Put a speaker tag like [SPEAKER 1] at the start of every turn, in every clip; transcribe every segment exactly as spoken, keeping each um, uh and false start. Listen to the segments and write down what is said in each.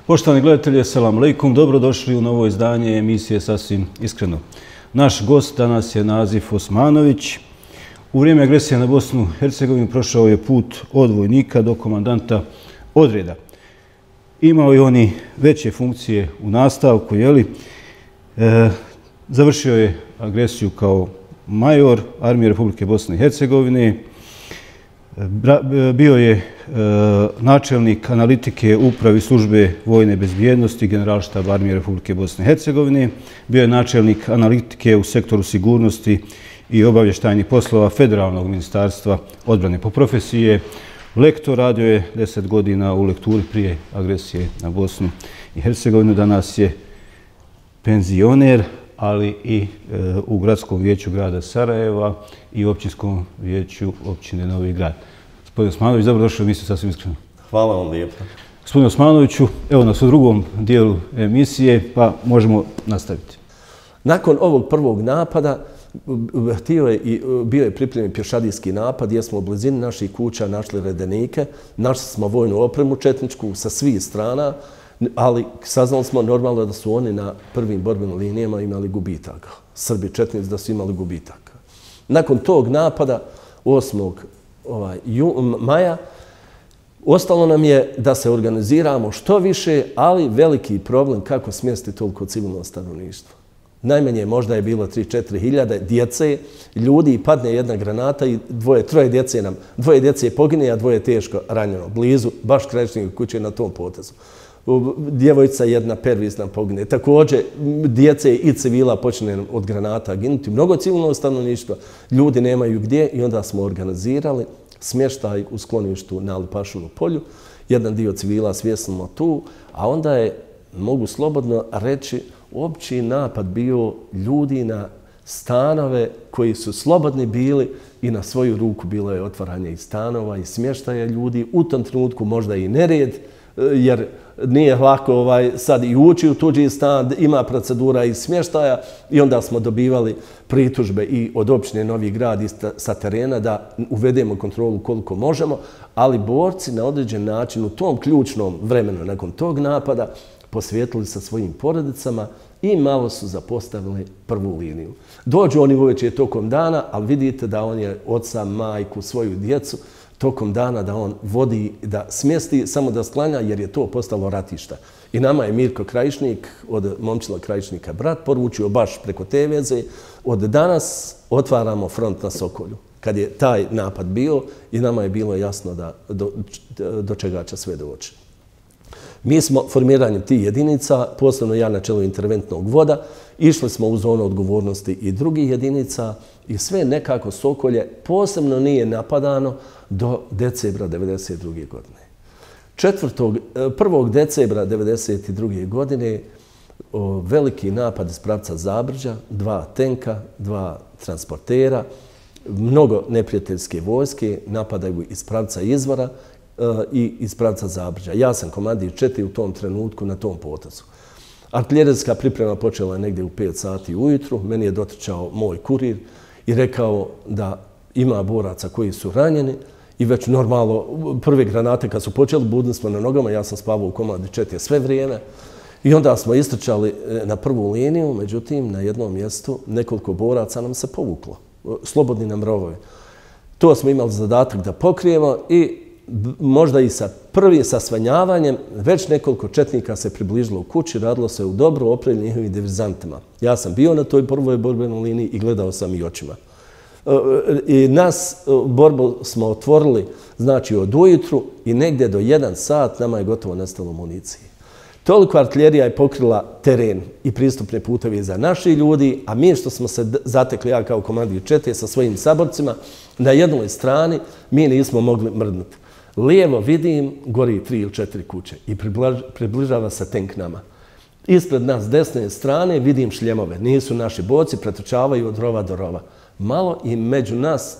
[SPEAKER 1] Poštovani gledatelji, assalamu alaikum, dobrodošli u novo izdanje emisije Sasvim iskreno. Naš gost danas je Nazif Osmanović. U vrijeme agresije na Bosnu i Hercegovinu prošao je put od vojnika do komandanta odreda. Imao je oni veće funkcije u nastavku, jeli? E, završio je agresiju kao major Armije Republike Bosne i Hercegovine. Bio je e, načelnik analitike upravi službe vojne bezbjednosti Generalštaba Armije Republike Bosne i Hercegovine. Bio je načelnik analitike u sektoru sigurnosti i obavještajnih poslova Federalnog ministarstva odbrane. Po profesiji je lektor, radio je deset godina u lekturi prije agresije na Bosnu i Hercegovinu. Danas je penzioner, ali i e, u gradskom vijeću grada Sarajeva i općinskom vijeću općine Novi Grad. Gospodin Osmanović, dobrodošli u emisiju Sasvim iskreno.
[SPEAKER 2] Hvala vam lijepo.
[SPEAKER 1] Gospodin Osmanoviću, evo nas u drugom dijelu emisije, pa možemo nastaviti.
[SPEAKER 2] Nakon ovog prvog napada htio je i bio je pripremljen pješadijski napad jer smo u blizini naših kuća našli redenike, našli smo vojnu opremu četničku sa svih strana, ali saznali smo normalno da su oni na prvim borbenim linijama imali gubitaka. Srbi četnici da su imali gubitaka. Nakon tog napada osmog Ovaj, maja ostalo nam je da se organiziramo što više, ali veliki problem kako smjestiti toliko civilno stanovništvo. Najmanje možda je bilo tri do četiri hiljade djece, ljudi, i padne jedna granata i dvoje, troje djece nam, dvoje djece pogine, a dvoje teško ranjeno, blizu, baš krajišnika kuće na tom potezu. Djevojčica jedna pervisna pogine. Također, djece i civila počne od granata ginuti. Mnogo civilnog stanovništva, ljudi nemaju gdje i onda smo organizirali smještaj u skloništu na Lipašovu polju. Jedan dio civila svjesno tu, a onda je, mogu slobodno reći, opći napad bio ljudi na stanove koji su slobodni bili i na svoju ruku bilo je otvaranje i stanova i smještaja ljudi. U tom trenutku možda i nered, jer nije lako ovaj, sad i ući u tuđi stan, ima procedura i smještaja i onda smo dobivali pritužbe i od općine Novi Grad i sa terena da uvedemo kontrolu koliko možemo, ali borci na određen način u tom ključnom vremenu nakon tog napada posvijetili sa svojim porodicama i malo su zapostavili prvu liniju. Dođu oni uveče tokom dana, ali vidite da on je oca, majku, svoju djecu tokom dana da on vodi, da smjesti, samo da sklanja, jer je to postalo ratišta. I nama je Mirko Krajišnik, od Momčila Krajišnika brat, poručio baš preko te veze, od danas otvaramo front na Sokolju. Kad je taj napad bio i nama je bilo jasno da do, do čega će sve doći. Mi smo formiranjem tih jedinica, posebno ja na čelu interventnog voda, išli smo u zonu odgovornosti i drugih jedinica i sve nekako Sokolje posebno nije napadano do decembra devedeset druge godine. prvog decembra devedeset druge godine o, veliki napad iz pravca Zabrđa, dva tenka, dva transportera, mnogo neprijateljske vojske napadaju iz pravca Izvora i iz pravca Zabrđa. Ja sam komandir četiri u tom trenutku na tom potezu. Artiljerijska priprema počela je negdje u pet sati ujutru. Meni je dotrčao moj kurir i rekao da ima boraca koji su ranjeni i već normalno prve granate kad su počeli, budili smo na nogama, ja sam spavao u komandi četiri sve vrijeme i onda smo istrčali na prvu liniju, međutim na jednom mjestu nekoliko boraca nam se povuklo, slobodni nam rovovi. To smo imali zadatak da pokrijemo i možda i sa prvim sasvanjavanjem već nekoliko četnika se približilo u kući, radilo se u dobro opremljenim njihovim diverzantima. Ja sam bio na toj prvoj borbenoj liniji i gledao sam i očima. I nas borbu smo otvorili znači od ujutru i negdje do jedan sat nama je gotovo nestalo municije. Toliko artiljerija je pokrila teren i pristupne puteve za naši ljudi, a mi što smo se zatekli, ja kao komandir čete sa svojim saborcima, na jednoj strani mi nismo mogli mrdnuti. Lijevo vidim, gori tri ili četiri kuće i približava se tenk nama. Ispred nas s desne strane vidim šljemove. Nisu naši borci, pretrčavaju od rova do rova. Malo i među nas,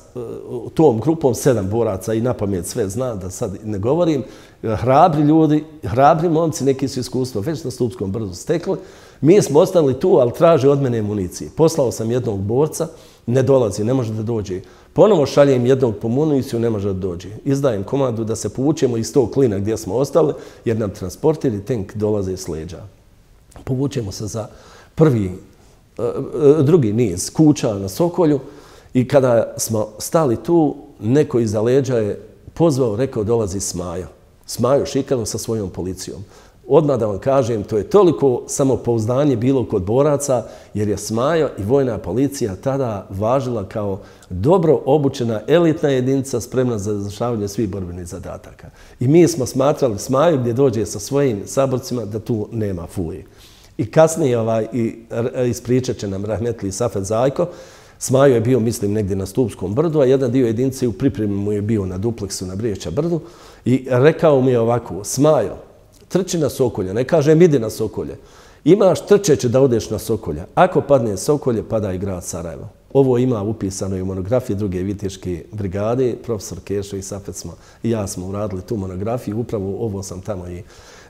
[SPEAKER 2] tom grupom, sedam boraca i napamet sve zna, da sad ne govorim, hrabri ljudi, hrabri momci, neki su iskustvo već na Stupskom brdu stekli. Mi smo ostali tu, ali traže od mene municije. Poslao sam jednog borca, ne dolazi, ne može da dođe. Ponovo šaljem jednog po municiju, ne može da dođe. Izdajem komandu da se povučemo iz tog klina gdje smo ostali, jer nam transporter i tank dolaze s leđa. Povučemo se za prvi, drugi niz kuća na Sokolju i kada smo stali tu, neko iza leđa je pozvao, rekao dolazi Smajo. Smajo Šikalo sa svojom policijom. Odmah da vam kažem, to je toliko samopouzdanje bilo kod boraca, jer je Smajo i vojna policija tada važila kao dobro obučena elitna jedinica spremna za izvršavanje svih borbenih zadataka. I mi smo smatrali Smajo gdje dođe sa svojim saborcima da tu nema fulije. I kasnije ovaj, i, ispričat će nam rahmetli Safet Zajko. Smajo je bio, mislim, negdje na Stupskom brdu, a jedan dio jedinice u pripremi mu je bio na dupleksu na Briječa brdu i rekao mi je ovako, Smajo, trči na Sokolje, ne kažem idi na Sokolje. Imaš trčeće da odeš na Sokolje. Ako padne Sokolje, pada i grad Sarajevo. Ovo ima upisano i u monografiji druge viteške brigade, profesor Kešo i Safet smo i ja smo uradili tu monografiju, upravo ovo sam tamo i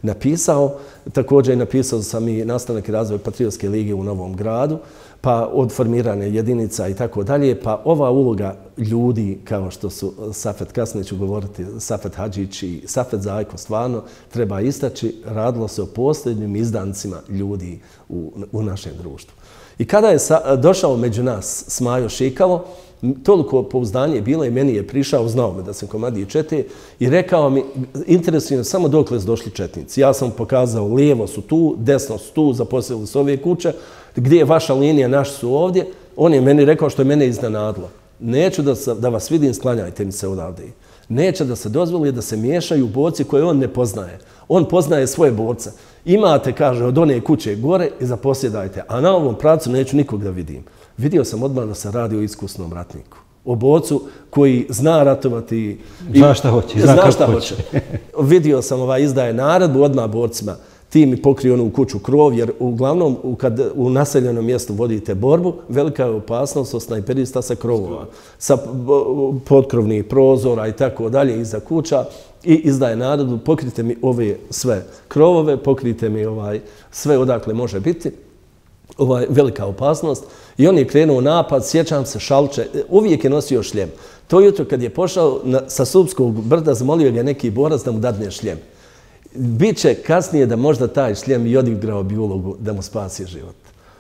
[SPEAKER 2] napisao. Također napisao sam i nastanak i razvoj Patriotske lige u Novom Gradu, pa od formirane jedinica i tako dalje, pa ova uloga ljudi, kao što su Safet, kasnije ću govoriti, Safet Hadžić i Safet Zajko, stvarno treba istaći, radilo se o posljednjim izdancima ljudi u, u našem društvu. I kada je sa, došao među nas Smajo Šikalo, toliko pouzdanje je bilo i meni je prišao, znao me da sam komandije čete i rekao mi, interesuje samo dokle su došli četnici. Ja sam pokazao, lijevo su tu, desno su tu, zaposlili su ove kuće, gdje je vaša linija, naši su ovdje. On je meni rekao što je mene iznenadilo. Neću da, sa, da vas vidim, sklanjajte mi se odavde. Neće da se dozvoli da se miješaju borci koje on ne poznaje. On poznaje svoje borce. Imate, kaže, od one kuće gore i zaposjedajte, a na ovom pravcu neću nikog da vidim. Vidio sam odmah da se radi o iskusnom ratniku. O borcu koji zna ratovati.
[SPEAKER 1] I zna šta hoće. Zna, zna šta hoće.
[SPEAKER 2] Vidio sam ovaj izdaje naredbu odmah borcima. Ti mi pokrije onu kuću krov, jer uglavnom kad u naseljenom mjestu vodite borbu, velika je opasnost od snajperista sa krovova, sa potkrovnih prozora i tako dalje iza kuća i izdaje naredbu, pokrijte mi ove sve krovove, pokrijte mi ovaj sve odakle može biti. Ovaj, velika opasnost. I on je krenuo napad, sjećam se, Šalče, uvijek je nosio šljem. To jutro kad je pošao na, sa Supskog brda, zamolio ga neki borac da mu dadne šljem. Biće kasnije da možda taj šljem i odigrao bi ulogu da mu spasi život.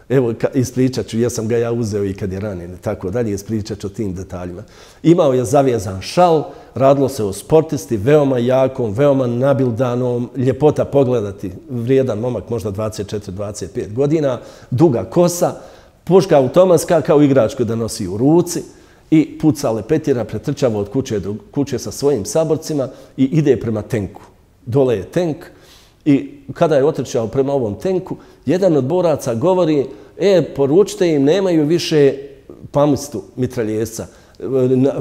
[SPEAKER 2] Evo, ispričat ću, ja sam ga ja uzeo i kad je ranjen i tako dalje, ispričat ću o tim detaljima. Imao je zavijezan šal, radilo se o sportisti, veoma jakom, veoma nabildanom, ljepota pogledati, vrijedan momak, možda dvadeset četiri dvadeset pet godina, duga kosa, puška automatska kao igračku da nosi u ruci i puca lepetira, pretrčava od kuće do kuće sa svojim saborcima i ide prema tenku. Dole je tenk i kada je otrčao prema ovom tenku, jedan od boraca govori, e, poručite im, nemaju više pamistu mitraljezca.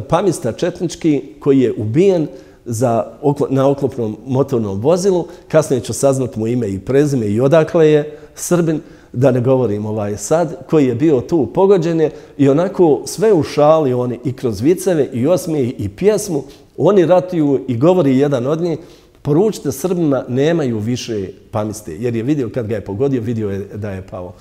[SPEAKER 2] Pamista četnički koji je ubijen za, na oklopnom motornom vozilu, kasnije ću saznat mu ime i prezime i odakle je Srbin, da ne govorim ovaj sad, koji je bio tu pogođen i onako sve u šali oni i kroz viceve i osmije i pjesmu, oni ratuju i govori jedan od njih, poručite Srbima, nemaju više pamiste, jer je vidio kad ga je pogodio, vidio je da je pao.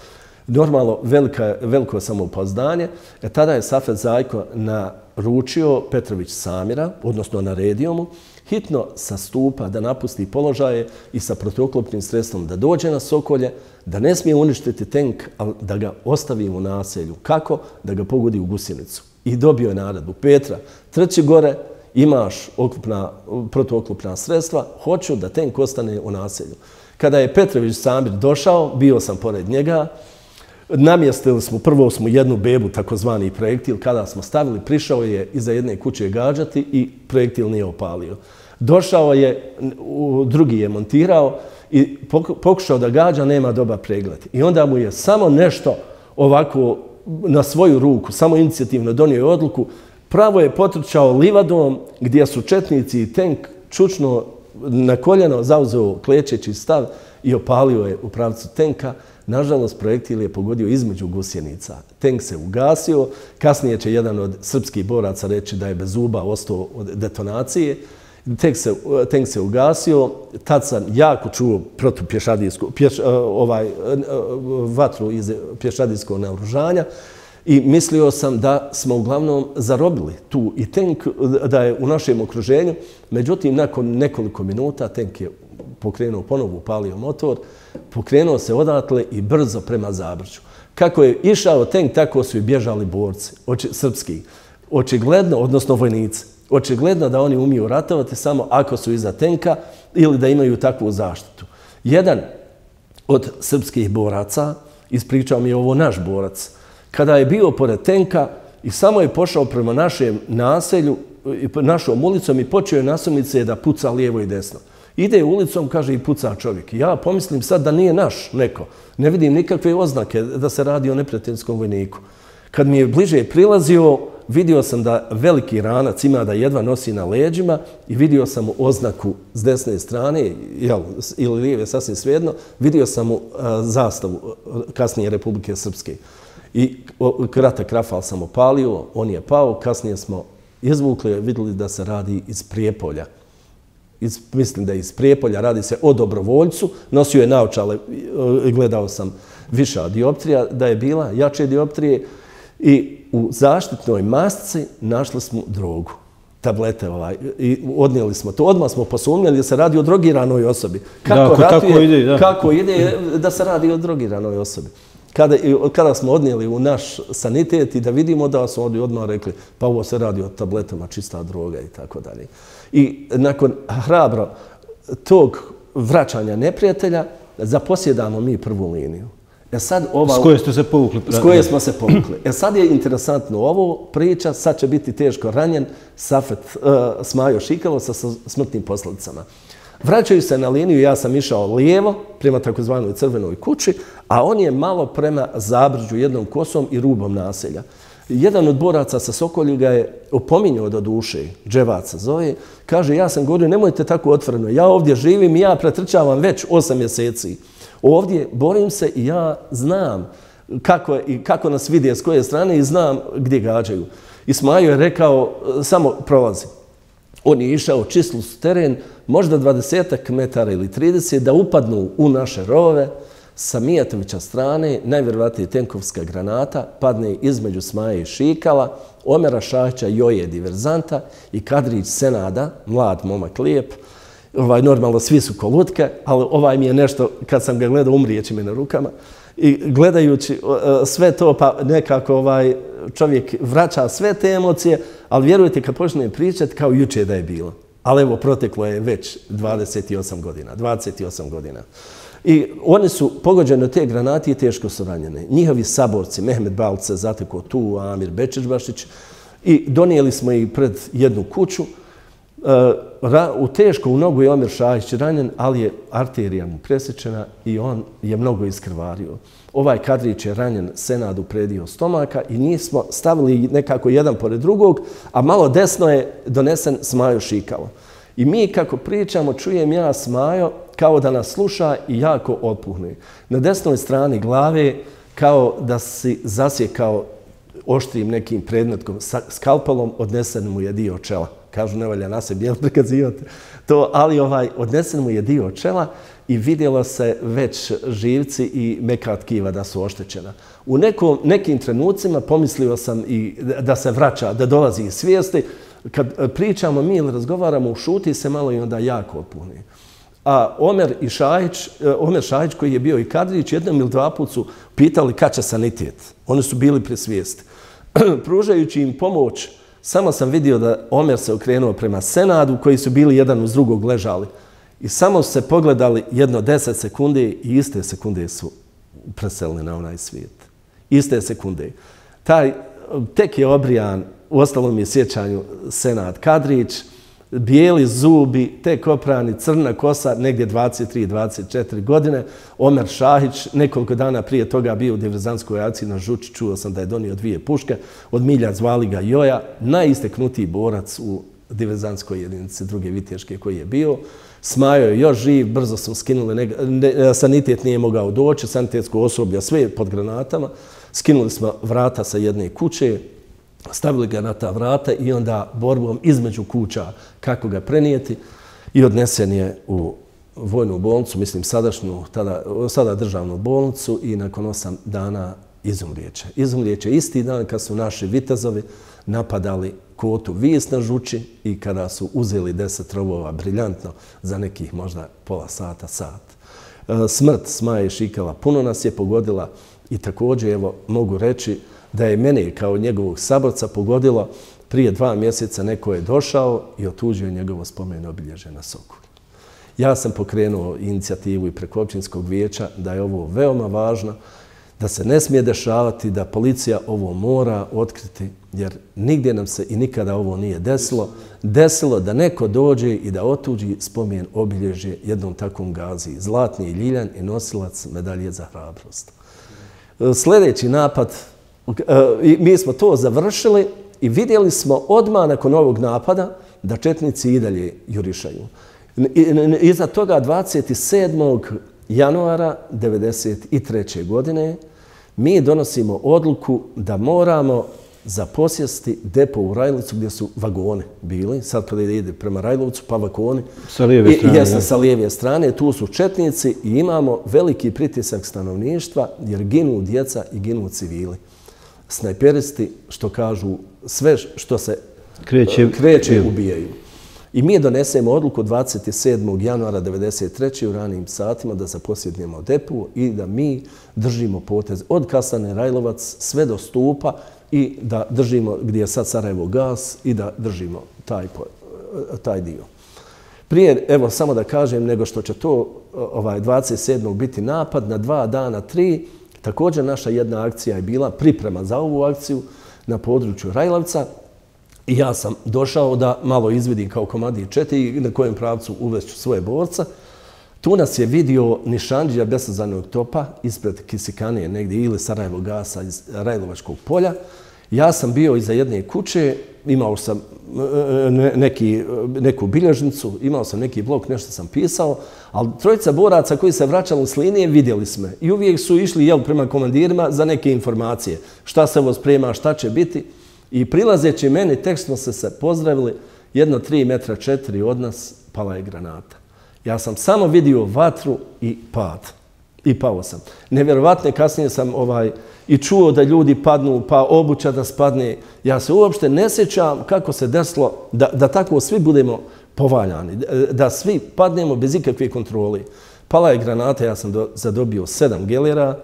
[SPEAKER 2] Normalno, velika, veliko samopouzdanje. E, tada je Safet Zajko naručio Petrović Samira, odnosno naredio mu, hitno sa stupa da napusti položaje i sa protuoklopnim sredstvom da dođe na Sokolje, da ne smije uništiti tenk, ali da ga ostavi u naselju. Kako? Da ga pogodi u gusjenicu. I dobio je naredbu. Petra, trči gore, imaš oklopna, protuoklopna sredstva, hoću da tenk ostane u naselju. Kada je Petrović Samir došao, bio sam pored njega, namjestili smo, prvo smo jednu bebu, takozvani projektil, kada smo stavili, prišao je iza jedne kuće gađati i projektil nije opalio. Došao je, drugi je montirao i pokušao da gađa, nema dobar pregled. I onda mu je samo nešto ovako na svoju ruku, samo inicijativno donio odluku, pravo je potrčao livadom gdje su četnici i tenk čučno na koljeno zauzeo klečeći stav i opalio je u pravcu tenka. Nažalost, projektil je pogodio između gusjenica. Tenk se ugasio, kasnije će jedan od srpskih boraca reći da je bez zuba ostao od detonacije. Tenk se, tenk se ugasio, tad sam jako čuo protupješadijsku, pješ, ovaj, vatru iz pješadijskog naoružanja I mislio sam da smo uglavnom zarobili tu i tank da je u našem okruženju. Međutim, nakon nekoliko minuta tank je pokrenuo ponovo, upalio motor, pokrenuo se odatle i brzo prema Zabrđu. Kako je išao tank, tako su i bježali borci, oči, srpski. Očigledno, odnosno vojnici, očigledno da oni umiju ratovati samo ako su iza tenka ili da imaju takvu zaštitu. Jedan od srpskih boraca, ispričao mi je ovo naš borac, kada je bio pored tenka i samo je pošao prema našem naselju, našom ulicom i počeo je nasumice da puca lijevo i desno. Ide ulicom, kaže, i puca čovjek. Ja pomislim sad da nije naš neko. Ne vidim nikakve oznake da se radi o neprijateljskom vojniku. Kad mi je bliže prilazio, vidio sam da veliki ranac ima da jedva nosi na leđima i vidio sam mu oznaku s desne strane, jel, ili lijeve, sasvim svejedno, vidio sam mu a, zastavu kasnije Republike Srpske. I o, kratak rafal sam opalio, on je pao, kasnije smo izvukli, vidjeli da se radi iz Prijepolja. Iz, mislim da je iz Prijepolja, radi se o dobrovoljcu, nosio je naočale, gledao sam viša dioptrija, da je bila jače dioptrije i u zaštitnoj masci našli smo drogu, tablete ovaj, i odnijeli smo to. Odmah smo posumnjali da se radi o drogiranoj osobi. Kako,
[SPEAKER 1] da,
[SPEAKER 2] ratuje,
[SPEAKER 1] tako ide, da.
[SPEAKER 2] kako ide da se radi o drogiranoj osobi. Kada, kada smo odnijeli u naš sanitet i da vidimo da su oni odmah rekli pa ovo se radi o tabletama, čista droga i tako dalje. I nakon hrabro tog vraćanja neprijatelja zaposjedamo mi prvu liniju. E sad ova,
[SPEAKER 1] s koje ste se povukli?
[SPEAKER 2] S koje smo se povukli. E sad je interesantno ovo priča, sad će biti teško ranjen Safet uh, Smajo Šikalo sa smrtnim posljedicama. Vraćaju se na liniju, ja sam išao lijevo prema takozvanoj Crvenoj kući, a on je malo prema Zabrđu, jednom kosom i rubom naselja. Jedan od boraca sa Sokolji ga je opominjao do duše, Dževaca zove, kaže, ja sam govorio, nemojte tako otvoreno, ja ovdje živim i ja pretrčavam već osam mjeseci. Ovdje borim se i ja znam kako, i kako nas vidi s koje strane i znam gdje gađaju. I Smajo je rekao, samo prolazi. On je išao čislus teren, možda dvadesetak metara ili trideset, da upadnu u naše rovove. Sa Mijatovića strane, najvjerovatnije tenkovska granata, padne između Smaje i Šikala, Omera Šahića, Joje diverzanta i Kadrić Senada, mlad momak lijep. Ovaj, normalno svi su kolutke, ali ovaj mi je nešto, kad sam ga gledao, umrijeći mi na rukama. I gledajući sve to, pa nekako ovaj, čovjek vraća sve te emocije, ali vjerujte, kad počne pričati, kao juče da je bilo. Ali evo, proteklo je već dvadeset osam godina, dvadeset osam godina. I oni su pogođeni od te granate i teško su ranjene. Njihovi saborci, Mehmet Balc se zatekao tu, Amir Bečićbašić, i donijeli smo ih pred jednu kuću. U teško u nogu je Omer Šahić ranjen, ali je arterija mu presječena i on je mnogo iskrvario. Ovaj Kadrić je ranjen Senadu predio stomaka i njih smo stavili nekako jedan pored drugog, a malo desno je donesen Smajo Šikalo. I mi kako pričamo, čujem ja Smajo kao da nas sluša i jako otpuhne. Na desnoj strani glave kao da si zasjekao oštrim nekim predmetkom, skalpelom odnesen mu je dio čela. Kažu, ne valja na sebi, jel prikazivate to, ali ovaj, odnesen mu je dio čela i vidjelo se već živci i meka tkiva da su oštećena. U nekom, nekim trenucima pomislio sam i da se vraća, da dolazi iz svijesti. Kad pričamo mi ili razgovaramo, ušuti se malo i onda jako otpuhne. A Omer i Šahić, Omer Šahić koji je bio i Kadrić, jednom ili dva put su pitali kad će sanitet. Oni su bili pri svijesti. Pružajući im pomoć, samo sam vidio da Omer se okrenuo prema Senadu, koji su bili jedan uz drugog ležali. I samo su se pogledali jedno deset sekunde i iste sekunde su preselili na onaj svijet. Iste sekunde. Taj, tek je obrijan, u ostalom je sjećanju Senad Kadrić, bijeli zubi, tek oprani, crna kosa, negdje dvadeset tri dvadeset četiri godine. Omer Šahić, nekoliko dana prije toga bio u diverzantskoj akciji na Žuči, čuo sam da je donio dvije puške, od milja zvali ga Joja, najisteknutiji borac u diverzantskoj jedinici druge Viteške koji je bio. Smajo je još živ, brzo smo skinuli, sanitet nije mogao doći, sanitetsko osoblje sve pod granatama, skinuli smo vrata sa jedne kuće, stavili ga na ta vrata i onda borbom između kuća kako ga prenijeti i odnesen je u vojnu bolnicu, mislim sadašnju, tada, sada državnu bolnicu i nakon osam dana izumrijeće. Izumrijeće isti dan kad su naši vitezovi napadali kotu Vis na Žuči i kada su uzeli deset rovova briljantno za nekih možda pola sata, sat. Smrt Smaje Šikala puno nas je pogodila i također evo mogu reći da je mene kao njegovog saborca pogodilo prije dva mjeseca neko je došao i otuđio njegovo spomen obilježje na Sokolu. Ja sam pokrenuo inicijativu i preko općinskog vijeća da je ovo veoma važno, da se ne smije dešavati, da policija ovo mora otkriti, jer nigdje nam se i nikada ovo nije desilo. Desilo da neko dođe i da otuđi spomen obilježje jednom takvom gazi. Zlatni Ljiljan i nosilac medalje za hrabrost. Sljedeći napad, mi smo to završili i vidjeli smo odmah nakon ovog napada da četnici i dalje jurišaju. Iza toga dvadeset sedmog januara devedeset treće. godine mi donosimo odluku da moramo zaposjesti depo u Rajlovcu gdje su vagoni bili. Sad kada ide prema Rajlovcu pa vagoni.
[SPEAKER 1] Sa lijeve strane.
[SPEAKER 2] Jesno, sa lijeve strane. Tu su četnici i imamo veliki pritisak stanovništva jer ginu djeca i ginu civili. Snajperisti, što kažu, sve što se kreće, kreće ubijaju. I mi donesemo odluku dvadeset sedmog januara devedeset treće. u ranim satima da zaposjednemo depu i da mi držimo potez od Kasane Rajlovac sve do Stupa i da držimo gdje je sad Sarajevo gas i da držimo taj, taj dio. Prije, evo samo da kažem, nego što će to ovaj, dvadeset sedmog biti napad, na dva dana, tri, također naša jedna akcija je bila priprema za ovu akciju na području Rajlovca. I ja sam došao da malo izvidim kao komandir četiri na kojem pravcu uvešću svoje borca. Tu nas je vidio nišandžija besazanog topa ispred Kisikanije negdje ili Sarajevo gasa iz Rajlovačkog polja. Ja sam bio iza jedne kuće, imao sam neki, neku bilježnicu, imao sam neki blok, nešto sam pisao, ali trojica boraca koji se vraćali s linije vidjeli smo i uvijek su išli jel, prema komandirima za neke informacije. Šta se ovo sprema, šta će biti. I prilazeći meni, tek smo se se pozdravili, jedno tri metra četiri od nas pala je granata. Ja sam samo vidio vatru i pad. I pao sam. Nevjerovatno, kasnije sam ovaj, i čuo da ljudi padnu, pa obuća da spadne. Ja se uopšte ne sjećam kako se desilo da, da tako svi budemo povaljani, da svi padnemo bez ikakve kontrole. Pala je granata, ja sam do, zadobio sedam gelera,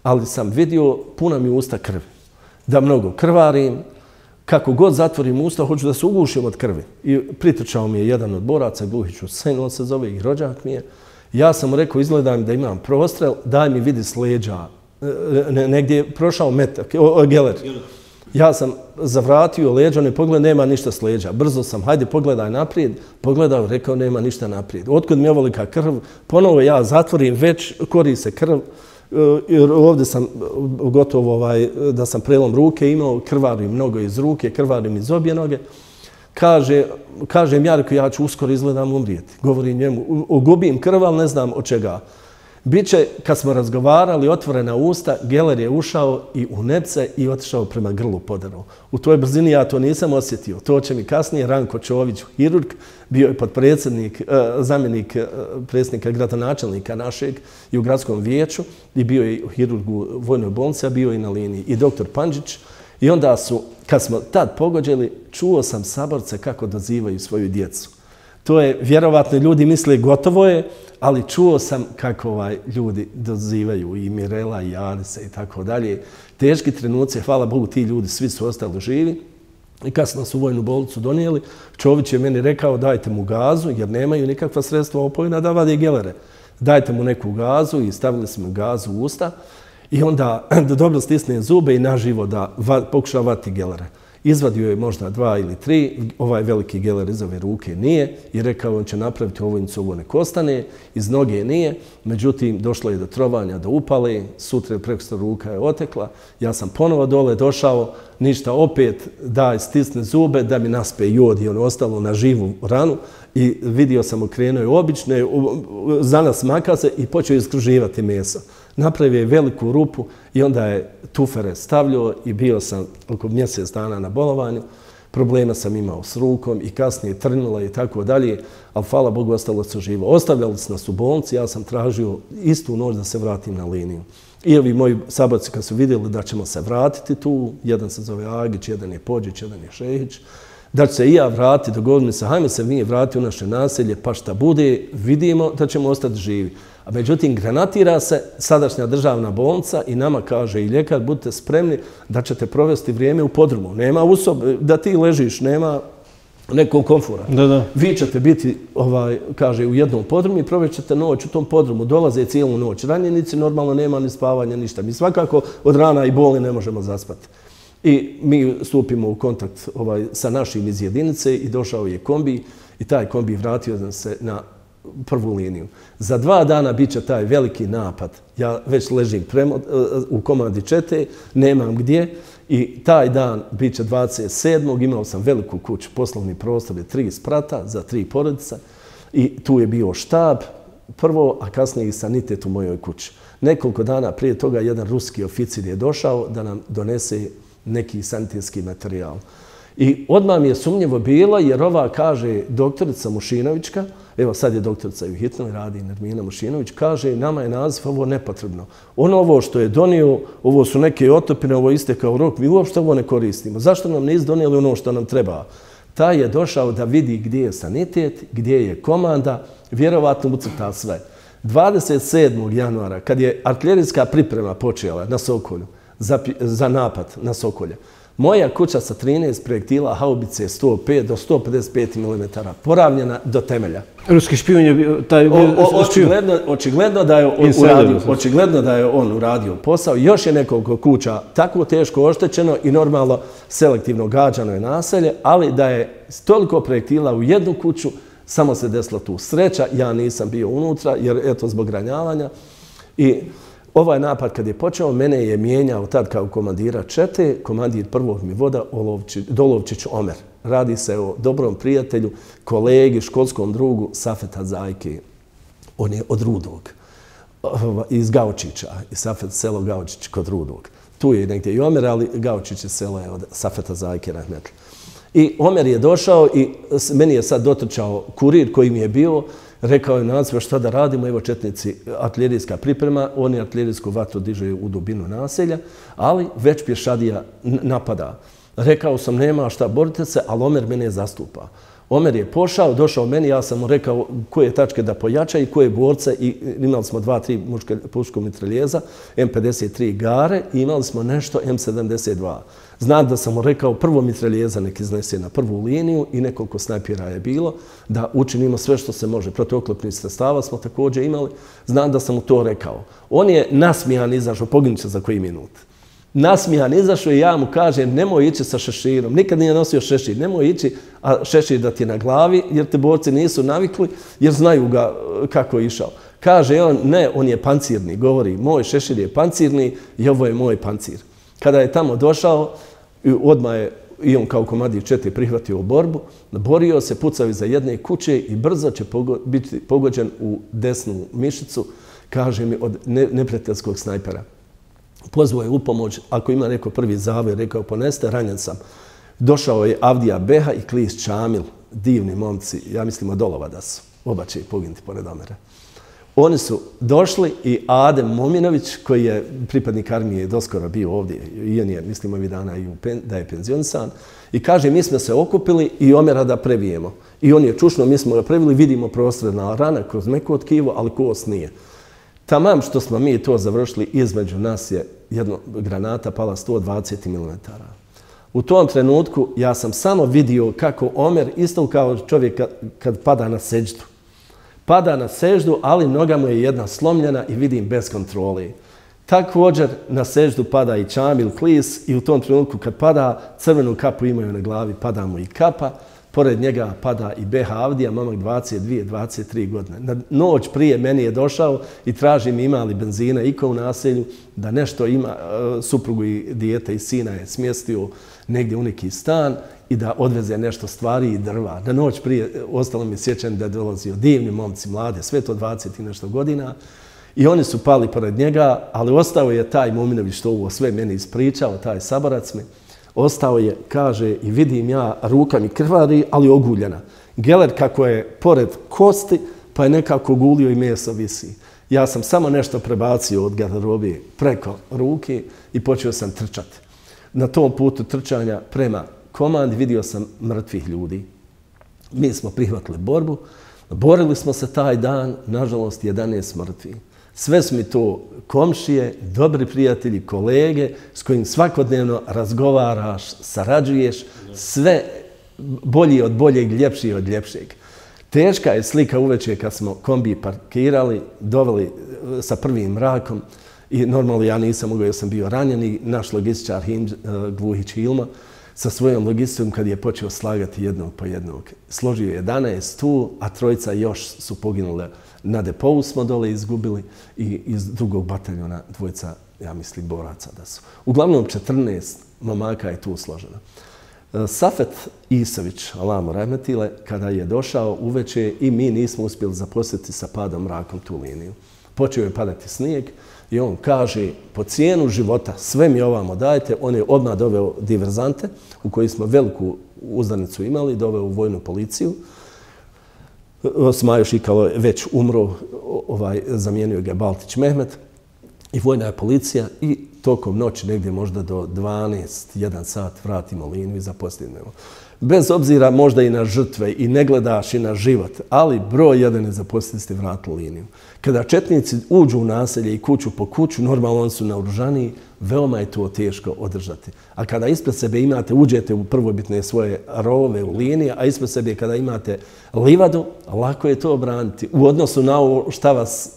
[SPEAKER 2] ali sam vidio puna mi usta krvi. Da mnogo krvarim, kako god zatvorim usta, hoću da se ugušim od krvi. I pritrčao mi je jedan od boraca, Gluhić Husein, on se zove i rođak mi je. Ja sam mu rekao, izgleda mi da imam prostrel, daj mi vidi s leđa. Negdje je prošao metak, o, geler. Ja sam zavratio leđa, ne pogled, nema ništa s leđa. Brzo sam, hajde pogledaj naprijed, pogledao, rekao, nema ništa naprijed. Otkud mi je ovolika krv, ponovo ja zatvorim, već kori se krv. Jer ovdje sam gotovo ovaj, da sam prelom ruke imao, krvarim mnogo iz ruke, krvarim iz obje noge. Kaže, kažem ja, rekao, ja ću uskoro izgledam umrijeti. Govorim njemu, gubim krv, ali ne znam od čega. Biće, kad smo razgovarali, otvorena usta, geler je ušao i u nepce i otišao prema grlu podarao. U toj brzini ja to nisam osjetio. To će mi kasnije Ranko Čović, hirurg, bio je podpredsjednik, zamjenik predsjednika gradonačelnika našeg i u gradskom vijeću i bio je hirurg u vojnoj bolnici, a bio i na liniji. I doktor Pandžić. I onda su, kad smo tad pogođeli, čuo sam saborce kako dozivaju svoju djecu. To je, vjerovatno, ljudi misle gotovo je, ali čuo sam kako ovaj, ljudi dozivaju i Mirela i Janisa i tako dalje. Teški trenuci, hvala Bogu, ti ljudi svi su ostali živi. I kad su nas u vojnu bolnicu donijeli, Čović je meni rekao dajte mu gazu, jer nemaju nikakva sredstva opojna da vade gelere. Dajte mu neku gazu i stavili smo gazu u usta i onda da dobro stisne zube i naživo da va, pokuša vati gelere. Izvadio je možda dva ili tri, ovaj veliki geler iz ove ruke nije i rekao on će napraviti ovojnicu, ovo nek ostane, iz noge nije, međutim došlo je do trovanja, do upale, sutra preko ruka je otekla, ja sam ponovo dole došao, ništa opet daj stisne zube da mi naspe jod i ono ostalo na živu ranu i vidio sam okrenuo je obične, za nas maka se i počeo iskruživati meso. Napravio je veliku rupu i onda je tufere stavljao i bio sam oko mjesec dana na bolovanju. problema sam imao s rukom i kasnije trnula i tako dalje, ali hvala Bogu ostalo se živo. Ostavljali su nas u bolnici, ja sam tražio istu noć da se vratim na liniju. I ovi moji saborci kad su vidjeli da ćemo se vratiti tu, jedan se zove Agić, jedan je Pođić, jedan je Šehić, da će se i ja vratiti, dogodili se, hajme se mi vratiti u naše naselje, pa šta bude, vidimo da ćemo ostati živi. A međutim, granatira se sadašnja državna bolnica i nama kaže i ljekar, budite spremni da ćete provesti vrijeme u podrumu. Nema usob, da ti ležiš, nema nekog komfora.
[SPEAKER 1] Da, da.
[SPEAKER 2] Vi ćete biti, ovaj, kaže, u jednom podrumu i provjećete noć u tom podrumu. Dolaze cijelu noć. Ranjenici normalno nema ni spavanja, ništa. Mi svakako od rana i boli ne možemo zaspati. I mi stupimo u kontakt ovaj, sa našim iz jedinice i došao je kombi i taj kombi vratio nam se na prvu liniju. Za dva dana bit će taj veliki napad. Ja već ležim premo, u komandi čete, nemam gdje i taj dan bit će dvadeset sedmog imao sam veliku kuću, poslovni prostor je tri sprata za tri porodica i tu je bio štab prvo, a kasnije i sanitet u mojoj kući. Nekoliko dana prije toga jedan ruski oficir je došao da nam donese neki sanitetski materijal. I odmah mi je sumnjivo bilo jer ova kaže doktorica Mušinovićka, evo sad je doktorica i u hitnoj radi Nermina Mušinović, kaže nama je naziv ovo nepotrebno. Ono ovo što je donio, ovo su neke otopine, ovo istekao rok, mi uopšte ovo ne koristimo. Zašto nam nisu donijeli ono što nam treba? Taj je došao da vidi gdje je sanitet, gdje je komanda, vjerovatno ucrta sve. dvadeset sedmog januara, kad je artiljerijska priprema počela na Sokolju, za, za napad na Sokolje, moja kuća sa trinaest projektila haubice sto pet do sto pedeset pet milimetara, poravljena do temelja.
[SPEAKER 1] Ruski špijun je bio taj bio
[SPEAKER 2] o, o, očigledno, očigledno, da je on uradio, očigledno da je on uradio posao. Još je nekoliko kuća tako teško oštećeno i normalno selektivno gađano je naselje, ali da je toliko projektila u jednu kuću, samo se desila tu sreća. Ja nisam bio unutra jer eto zbog ranjavanja. I ovaj napad kad je počeo, mene je mijenjao tad kao komandira čete, komandir prvog mi voda Olovčić, Dolovčić Omer. Radi se o dobrom prijatelju, kolegi, školskom drugu Safeta Zajke. On je od Rudog, iz Gaučića, iz Safeta selo Gaučić kod Rudog. Tu je negdje i Omer, ali Gaučić je selo je od Safeta Zajke. I Omer je došao i meni je sad dotrčao kurir koji mi je bio. Rekao je naziva šta da radimo, evo četnici, artiljerijska priprema, oni artiljerijsku vatru dižu u dubinu naselja, ali već pješadija napada. Rekao sam nema šta, borite se, ali Omer mene zastupa. Omer je pošao, došao meni, ja sam mu rekao koje tačke da pojača i koje borce, i imali smo dva, tri puško mitraljeza, M pedeset tri Gare i imali smo nešto M sedamdeset dva. Znam da sam mu rekao prvo mitraljeza nek iznese na prvu liniju i nekoliko snajpera je bilo, da učinimo sve što se može. Protuoklopnih sredstava smo također imali. Znam da sam mu to rekao. On je nasmijan izašao, poginut će za koji minut. Nasmijan izašao i ja mu kažem nemoj ići sa šeširom. Nikad nije nosio šešir. Nemoj ići, a šešir da ti je na glavi jer te borci nisu navikli jer znaju ga kako je išao. Kaže on, ne, on je pancirni. Govori, moj šešir je pancirni i ovo je moj pancir. Kada je tamo došao, odmah je i on kao komandir čete prihvatio borbu, borio se, pucao iza jedne kuće i brzo će biti pogođen u desnu mišicu, kaže mi, od neprijateljskog snajpera. Pozvao je u pomoć, ako ima neko prvi zavoj, rekao poneste, ranjen sam. Došao je Avdija Beha i Klis Čamil, divni momci, ja mislim od Olova da su, oba će poginuti pored Omera. Oni su došli i Adem Mominović, koji je pripadnik armije doskoro bio ovdje, i on je, mislim, ovih dana i da je penzionisan, i kaže, mi smo se okupili i Omera da prebijemo. I on je čušno, mi smo ga prebili, vidimo prostredna rana kroz meko tkivo, ali kost nije. Tamam što smo mi to završili, između nas je jedna granata pala sto dvadeset milimetara. U tom trenutku ja sam samo vidio kako Omer, isto kao čovjek kad pada na seđdu, pada na seždu, ali noga mu je jedna slomljena i vidim bez kontrole. Također na seždu pada i Čamil Klis i u tom trenutku kad pada, crvenu kapu imaju na glavi, pada mu i kapa. Pored njega pada i Beha Avdija, momak dvadeset dvije dvadeset tri godine. Na noć prije meni je došao i traži mi ima li benzina iko u naselju, da nešto ima, suprugu i dijete i sina je smjestio negdje u neki stan i da odveze nešto stvari i drva. Na noć prije ostalo mi sjećam da je dolazio divni momci, mlade, sve to dvadeset i nešto godina. I oni su pali pored njega, ali ostao je taj Mominović što ovo sve meni ispričao, taj saborac mi. ostao je, kaže, i vidim ja, ruka mi krvari, ali oguljena. Geler kako je pored kosti, pa je nekako gulio i meso visi. Ja sam samo nešto prebacio od garderobe preko ruke i počeo sam trčati. Na tom putu trčanja prema komandi vidio sam mrtvih ljudi. Mi smo prihvatili borbu, borili smo se taj dan, nažalost, jedanaest mrtvih. Sve su mi to komšije, dobri prijatelji, kolege s kojim svakodnevno razgovaraš, sarađuješ, sve bolji od boljeg, ljepši od ljepšeg. Teška je slika uveče kad smo kombi parkirali, doveli sa prvim mrakom i normalno ja nisam mogao jer sam bio ranjen i naš logističar Gluhić Hilma sa svojom logistikom kad je počeo slagati jednog po jednog. Složio je jedanaest tu, a trojica još su poginule. Na depovu smo dole izgubili i iz drugog bataljona dvojica, ja mislim, boraca da su. Uglavnom četrnaest momaka je tu složeno. Safet Isović, Alamo Rahmetile, kada je došao uveče i mi nismo uspjeli zaposliti sa padom mrakom tu liniju. Počeo je padati snijeg i on kaže, po cijenu života sve mi ovamo dajete. On je odmah doveo diverzante u kojoj smo veliku uzdanicu imali, doveo u vojnu policiju. Smajo Šikalo je već umro, ovaj, zamijenio ga Baltić Mehmet i vojna policija i tokom noći negdje možda do dvanaest, jedan sat vratimo liniju i zaposlimo. Bez obzira možda i na žrtve i ne gledaš i na život, ali broj jedan je zaposlili ste vratili liniju. Kada četnici uđu u naselje i kuću po kuću, normalno oni su naoružaniji, veoma je to teško održati. A kada ispred sebe imate, uđete u prvobitne svoje rovove u linije, a ispred sebe kada imate livadu, lako je to obraniti. U odnosu na ovo šta vas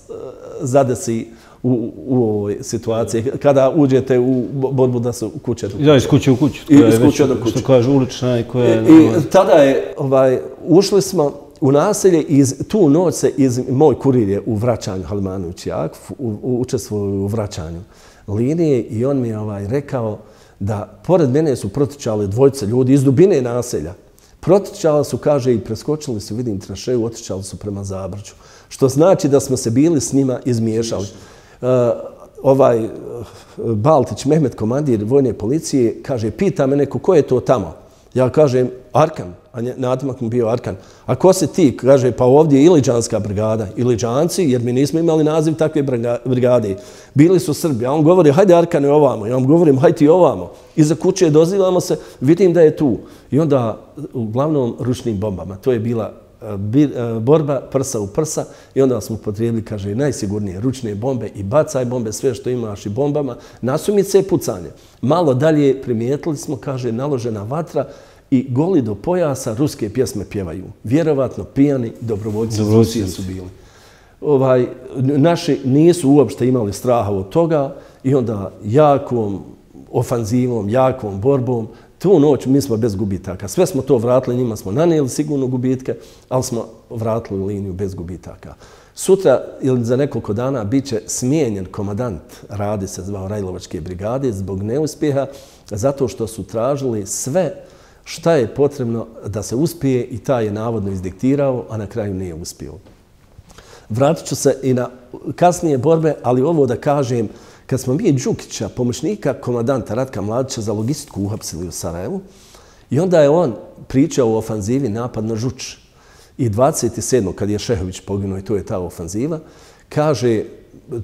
[SPEAKER 2] zadesi u, u ovoj situaciji, kada uđete u borbu da su kuće do kuće.
[SPEAKER 1] Da, iz kuće u kuću.
[SPEAKER 2] I iz kuće do kuće.
[SPEAKER 1] Što kaže ulična i koja je...
[SPEAKER 2] I, i tada je, ovaj, ušli smo u naselje i tu noć se iz, moj kurir je u vraćanju, Halimanović Jakov, učestvovao u vraćanju linije i on mi je ovaj, rekao da pored mene su protičali dvojice ljudi iz dubine naselja. Protičali su, kaže, i preskočili su, vidim, tranšeju, otičali su prema Zabrđu. Što znači da smo se bili s njima izmiješali. Uh, ovaj uh, Baltić Mehmet, komandir vojne policije, kaže, pita me neko ko je to tamo. Ja kažem, Arkan, a nadimak mu bio Arkan. A ko si ti? Kaže, pa ovdje je Iliđanska brigada. Iliđanci, jer mi nismo imali naziv takve brigade. Bili su Srbi. A on govori, hajde Arkane ovamo. Ja vam govorim, hajde ti ovamo. Iza kuće dozivamo se, vidim da je tu. I onda, uglavnom, ručnim bombama. To je bila borba prsa u prsa i onda smo upotrijebili, kaže, najsigurnije ručne bombe i bacaj bombe, sve što imaš i bombama, nasumice i pucanje. Malo dalje primijetili smo, kaže, naložena vatra i goli do pojasa ruske pjesme pjevaju. Vjerovatno pijani dobrovoljci iz Rusije su bili. Ovaj, naši nisu uopšte imali straha od toga i onda jakom ofanzivom, jakom borbom tu noć mi smo bez gubitaka. Sve smo to vratili, njima smo nanijeli sigurno gubitke, ali smo vratili liniju bez gubitaka. Sutra ili za nekoliko dana bit će smijenjen komadant, radi se zvao Rajlovačke brigade, zbog neuspjeha, zato što su tražili sve šta je potrebno da se uspije i taj je navodno izdiktirao, a na kraju nije uspio. Vratit ću se i na kasnije borbe, ali ovo da kažem, kad smo mi Đukića, pomoćnika komadanta Ratka Mladića, za logistiku uhapsili u Sarajevu i onda je on pričao o ofanzivi napad na Žuč. I dvadeset sedmog kad je Šehović poginuo i to je ta ofanziva, kaže,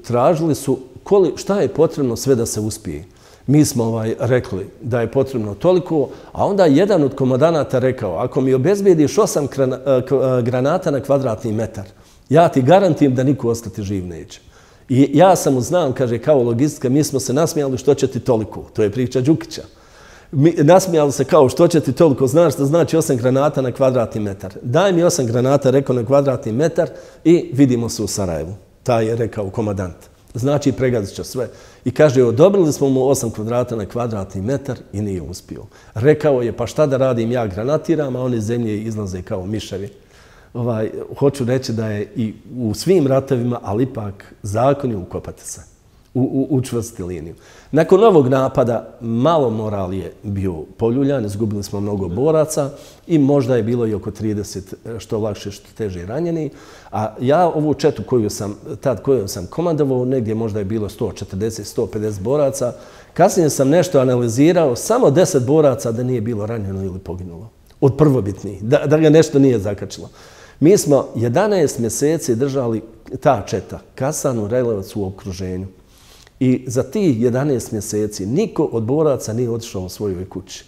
[SPEAKER 2] tražili su koli, šta je potrebno sve da se uspije. Mi smo ovaj, rekli da je potrebno toliko, a onda jedan od komadanata rekao, ako mi obezbijediš osam granata na kvadratni metar, ja ti garantim da niko ostati živ neće. I ja samo znam, kaže, kao logistika, mi smo se nasmijali što će ti toliko. To je priča Đukića. Mi, nasmijali se kao što će ti toliko, znaš što znači osam granata na kvadratni metar. Daj mi osam granata, rekao, na kvadratni metar i vidimo se u Sarajevu. Taj je rekao komadant. Znači, pregazit će sve. I kaže, odobrili smo mu osam kvadrata na kvadratni metar i nije uspio. Rekao je, pa šta da radim, ja granatiram, a oni iz zemlje izlaze kao miševi. Ovaj, hoću reći da je i u svim ratovima, ali ipak zakon je ukopati se. učvrstiti liniju. Nakon ovog napada malo moral je bio poljuljan, izgubili smo mnogo boraca i možda je bilo i oko trideset što lakše, što teže ranjeni. A ja ovu četu koju sam, tad koju sam komandovao, negdje možda je bilo sto četrdeset do sto pedeset boraca. Kasnije sam nešto analizirao, samo deset boraca da nije bilo ranjeno ili poginulo. Od prvobitnih, da, da ga nešto nije zakačilo. Mi smo jedanaest mjeseci držali ta četa, Kasanu, Rajlevac u okruženju. I za tih jedanaest mjeseci niko od boraca nije otišao u svojoj kući.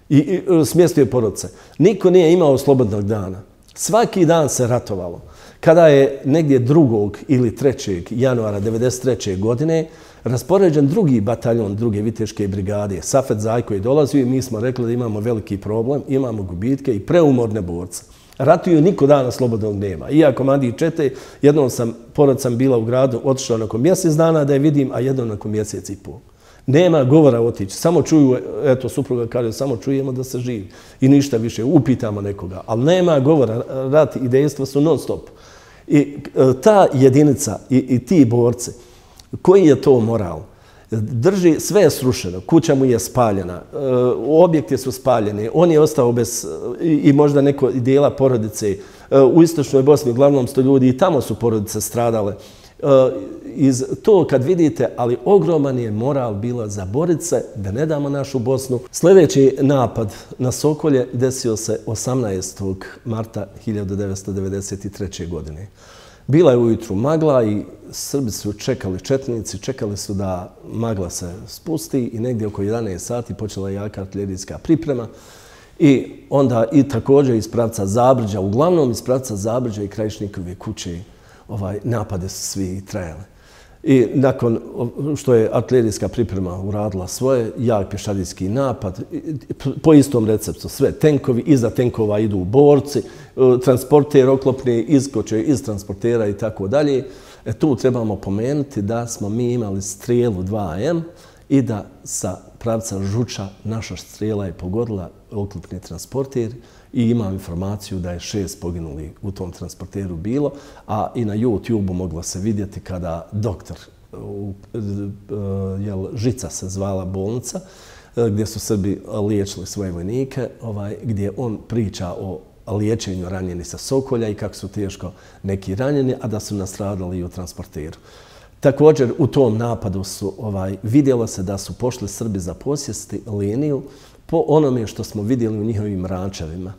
[SPEAKER 2] I, i smjestio je porodice. Niko nije imao slobodnog dana. Svaki dan se ratovalo. Kada je negdje drugog ili trećeg januara devedeset treće godine raspoređen drugi bataljon druge viteške brigade, Safet Zajko je dolazio i mi smo rekli da imamo veliki problem, imamo gubitke i preumorne borce. Ratuju niko dana slobodnog nema. I ja komandir čete, jednom sam, porod sam bila u gradu, otišao nakon mjesec dana da je vidim, a jednom nakon mjesec i pol. Nema govora otići, samo čuju, eto, supruga kaže, samo čujemo da se živi. I ništa više, upitamo nekoga. Ali nema govora, rat i dejstva su non stop. I ta jedinica i, i ti borci, koji je to moral? Drži, sve je srušeno, kuća mu je spaljena, objekti su spaljeni, on je ostao bez i možda neko dijela porodice. U istočnoj Bosni uglavnom sto ljudi i tamo su porodice stradale. Iz to kad vidite, ali ogroman je moral bila za boriti se da ne damo našu Bosnu. Sljedeći napad na Sokolje desio se osamnaestog marta hiljadu devetsto devedeset treće. godine. Bila je ujutru magla i Srbi su čekali, četnici, čekali su da magla se spusti i negdje oko jedanaest sati počela je jaka artiljerijska priprema. I onda i također iz pravca Zabrđa, uglavnom iz pravca Zabrđa i Krajišnikove kuće, ovaj, napade su svi trajali. I nakon što je artiljerijska priprema uradila svoje, jak pješadijski napad, po istom receptu sve tenkovi, iza tenkova idu borci, transporter oklopni iskoče iz transportera i tako dalje. E tu trebamo pomenuti da smo mi imali strijelu dva em i da sa pravca Žuča naša strijela je pogodila oklopni transporter i imam informaciju da je šest poginuli u tom transporteru bilo, a i na YouTube-u moglo se vidjeti kada doktor, jel, Žica se zvala bolnica, gdje su Srbi liječili svoje vojnike, ovaj, gdje on priča o liječenju ranjeni sa Sokolja i kako su teško neki ranjeni, a da su nastradali i u transporteru. Također u tom napadu su ovaj, vidjelo se da su pošli Srbi za posjesti liniju po onome što smo vidjeli u njihovim rančevima.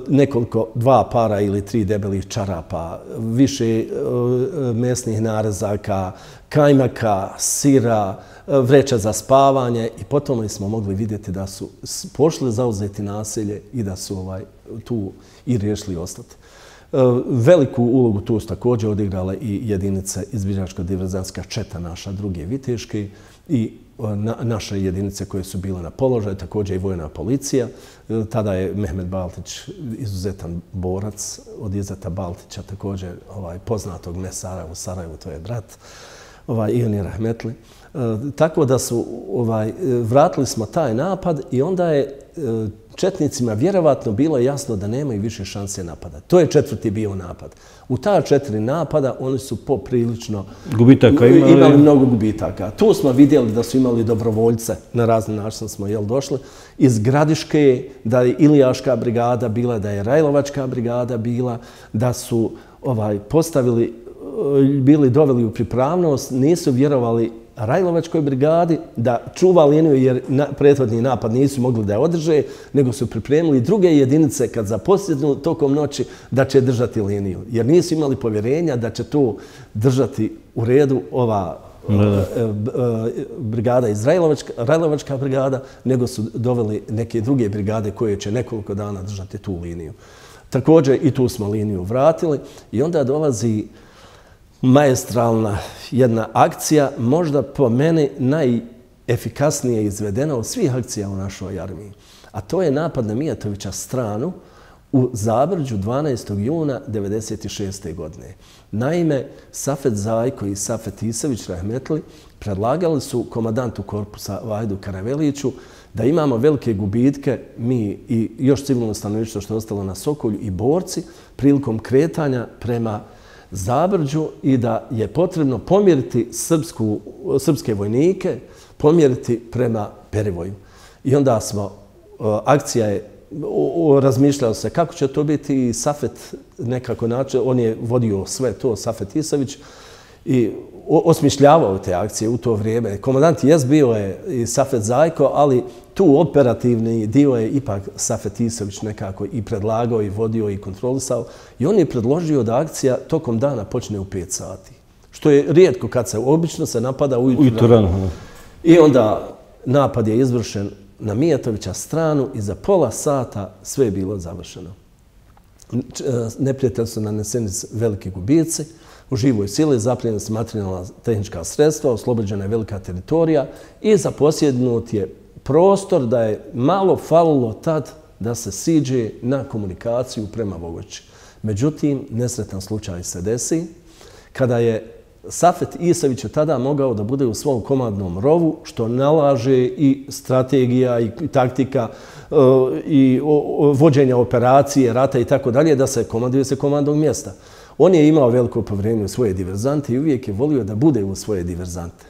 [SPEAKER 2] Nekoliko, dva para ili tri debelih čarapa, više mesnih narezaka, kajmaka, sira, vreća za spavanje i potom smo mogli vidjeti da su pošli zauzeti naselje i da su ovaj, tu i riješili ostati. Veliku ulogu tu su također odigrale i jedinice izviđačko-diverzantska četa naša druge viteške i na, naše jedinice koje su bile na položaju, također i vojna policija. Tada je Mehmed Baltić izuzetan borac od Izeta Baltića, također ovaj, poznatog mesara u Sarajevu, to je brat, ovaj, i on je rahmetli. E, tako da su, ovaj, vratili smo taj napad i onda je e, četnicima vjerovatno bilo jasno da nemaju više šanse napada. To je četvrti bio napad. U ta četiri napada oni su poprilično
[SPEAKER 1] gubitaka imali.
[SPEAKER 2] imali mnogo gubitaka. Tu smo vidjeli da su imali dobrovoljce, na razni način smo jel, došli, iz Gradiške, da je Ilijaška brigada bila, da je Rajlovačka brigada bila, da su ovaj, postavili, bili doveli u pripravnost, nisu vjerovali Rajlovačkoj brigadi da čuva liniju jer na, prethodni napad nisu mogli da je održe, nego su pripremili druge jedinice kad zaposjednu tokom noći da će držati liniju. Jer nisu imali povjerenja da će tu držati u redu ova da. brigada iz Rajlovačka, Rajlovačka brigada, nego su doveli neke druge brigade koje će nekoliko dana držati tu liniju. Također i tu smo liniju vratili i onda dolazi maestralna jedna akcija, možda po meni najefikasnije izvedena od svih akcija u našoj armiji. A to je napad na Mijatovića stranu u Zabrđu dvanaestog juna devedeset šeste. godine. Naime, Safet Zajko i Safet Isević rahmetli predlagali su komandantu korpusa Vajdu Karaveliću da imamo velike gubitke, mi i još civilno stanovništvo što je ostalo na Sokolju i borci, prilikom kretanja prema Zabrđu i da je potrebno pomjeriti srpsku, srpske vojnike, pomjeriti prema Perivoju. I onda smo, akcija je, razmišljalo se kako će to biti i Safet nekako način, on je vodio sve to, Safet Isavić, i osmišljavao te akcije u to vrijeme. Komandant jest bio je i Safet Zajko, ali tu operativni dio je ipak Safet Isavić nekako i predlagao i vodio i kontrolisao. I on je predložio da akcija tokom dana počne u pet sati. Što je rijetko kad se, obično se napada ujutro rano. I onda napad je izvršen na Mijatovića stranu i za pola sata sve je bilo završeno. Neprijatelj su naneseni veliki gubici, u živoj sili zaplijenjena su materijalna tehnička sredstva, oslobođena je velika teritorija i zaposjednut je prostor da je malo falilo tad da se siđe na komunikaciju prema Vogoći. Međutim, nesretan slučaj se desi kada je Safet Isavić je tada mogao da bude u svom komandnom rovu, što nalaže i strategija i taktika i vođenja operacije, rata i tako dalje, da se komanduje se komandnog mjesta. On je imao veliko povjerenje u svoje diverzante i uvijek je volio da bude u svoje diverzante.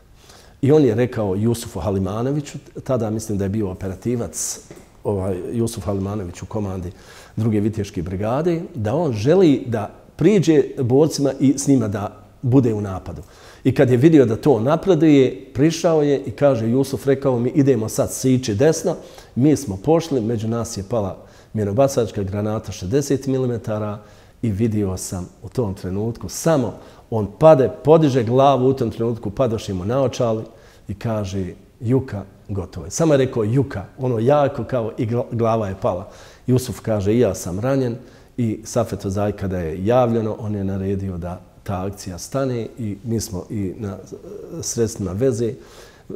[SPEAKER 2] I on je rekao Jusufu Halimanoviću, tada mislim da je bio operativac ovaj, Jusuf Halimanović u komandi druge viteške brigade, da on želi da priđe borcima i s njima da bude u napadu. I kad je vidio da to napreduje, prišao je i kaže Jusuf, rekao mi idemo sad sići desno. Mi smo pošli, među nas je pala minobacačka granata šezdeset milimetara i vidio sam u tom trenutku samo on pade, podiže glavu, u tom trenutku padoše mu naočali i kaže Juka, gotovo je. Samo je rekao Juka, ono jako kao i glava je pala. Jusuf kaže i ja sam ranjen i Safeto Zaj kada je javljeno, on je naredio da ta akcija stane i mi smo i na sredstvima veze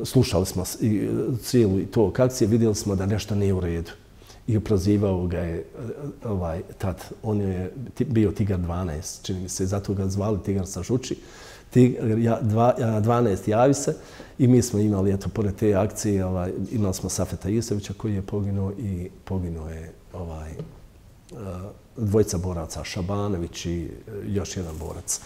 [SPEAKER 2] slušali smo i cijelu tog akcije, vidjeli smo da nešto nije u redu. I prozivao ga je ovaj, tad, on je bio Tigar dvanaest, čini mi se, zato ga zvali Tigar sa Žuči. dvanaest javi se i mi smo imali, eto, pored te akcije, ovaj, imali smo Safeta Isavića koji je poginuo i poginuo je ovaj, dvojica boraca, Šabanović i još jedan borac.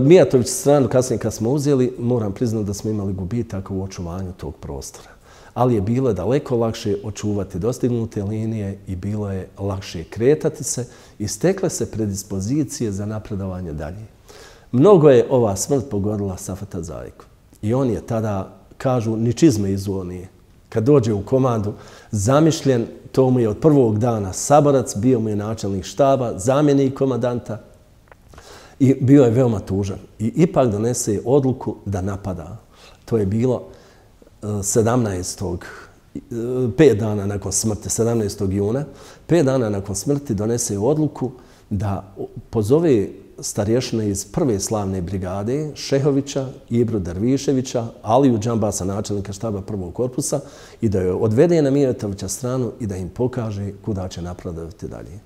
[SPEAKER 2] Mijatović stranu, kasnije kad smo uzeli, moram priznati da smo imali gubitak u očuvanju tog prostora. Ali je bilo daleko lakše očuvati dostignute linije i bilo je lakše kretati se i stekle se predispozicije za napredovanje dalje. Mnogo je ova smrt pogodila Safeta Zajku. I on je tada, kažu, ni čizme izuo nije. Kad dođe u komandu, zamišljen, to mu je od prvog dana saborac, bio mu je načelnik štaba, zamjenik komandanta i bio je veoma tužan. I ipak donese odluku da napada. To je bilo sedamnaestog pet dana nakon smrti, sedamnaestog juna, pet dana nakon smrti donese odluku da pozove starješine iz prve slavne brigade, Šehovića, Ibru Derviševića, Aliju Džambasa, načelnika štaba prvog korpusa, i da je odvede na Mijatovića stranu i da im pokaže kuda će napredovati dalje.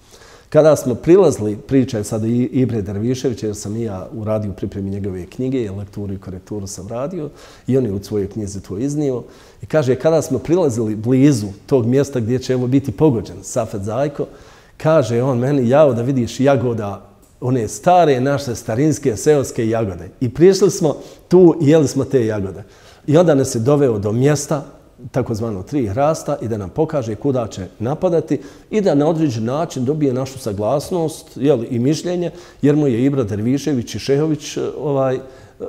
[SPEAKER 2] Kada smo prilazili, priča je sada Ibre Derviševića, jer sam i ja uradio pripremi njegove knjige, lekturu i korekturu sam radio, i on je u svojoj knjizi to iznio. I kaže, kada smo prilazili blizu tog mjesta gdje će evo biti pogođen Safet Zajko, kaže on meni, jao da vidiš jagoda, one stare naše starinske seoske jagode. I prišli smo tu i jeli smo te jagode. I onda nas je doveo do mjesta, takozvano tri hrasta, i da nam pokaže kuda će napadati i da na određen način dobije našu saglasnost, jeli, i mišljenje, jer mu je Ibra Dervišević i Šehović ovaj,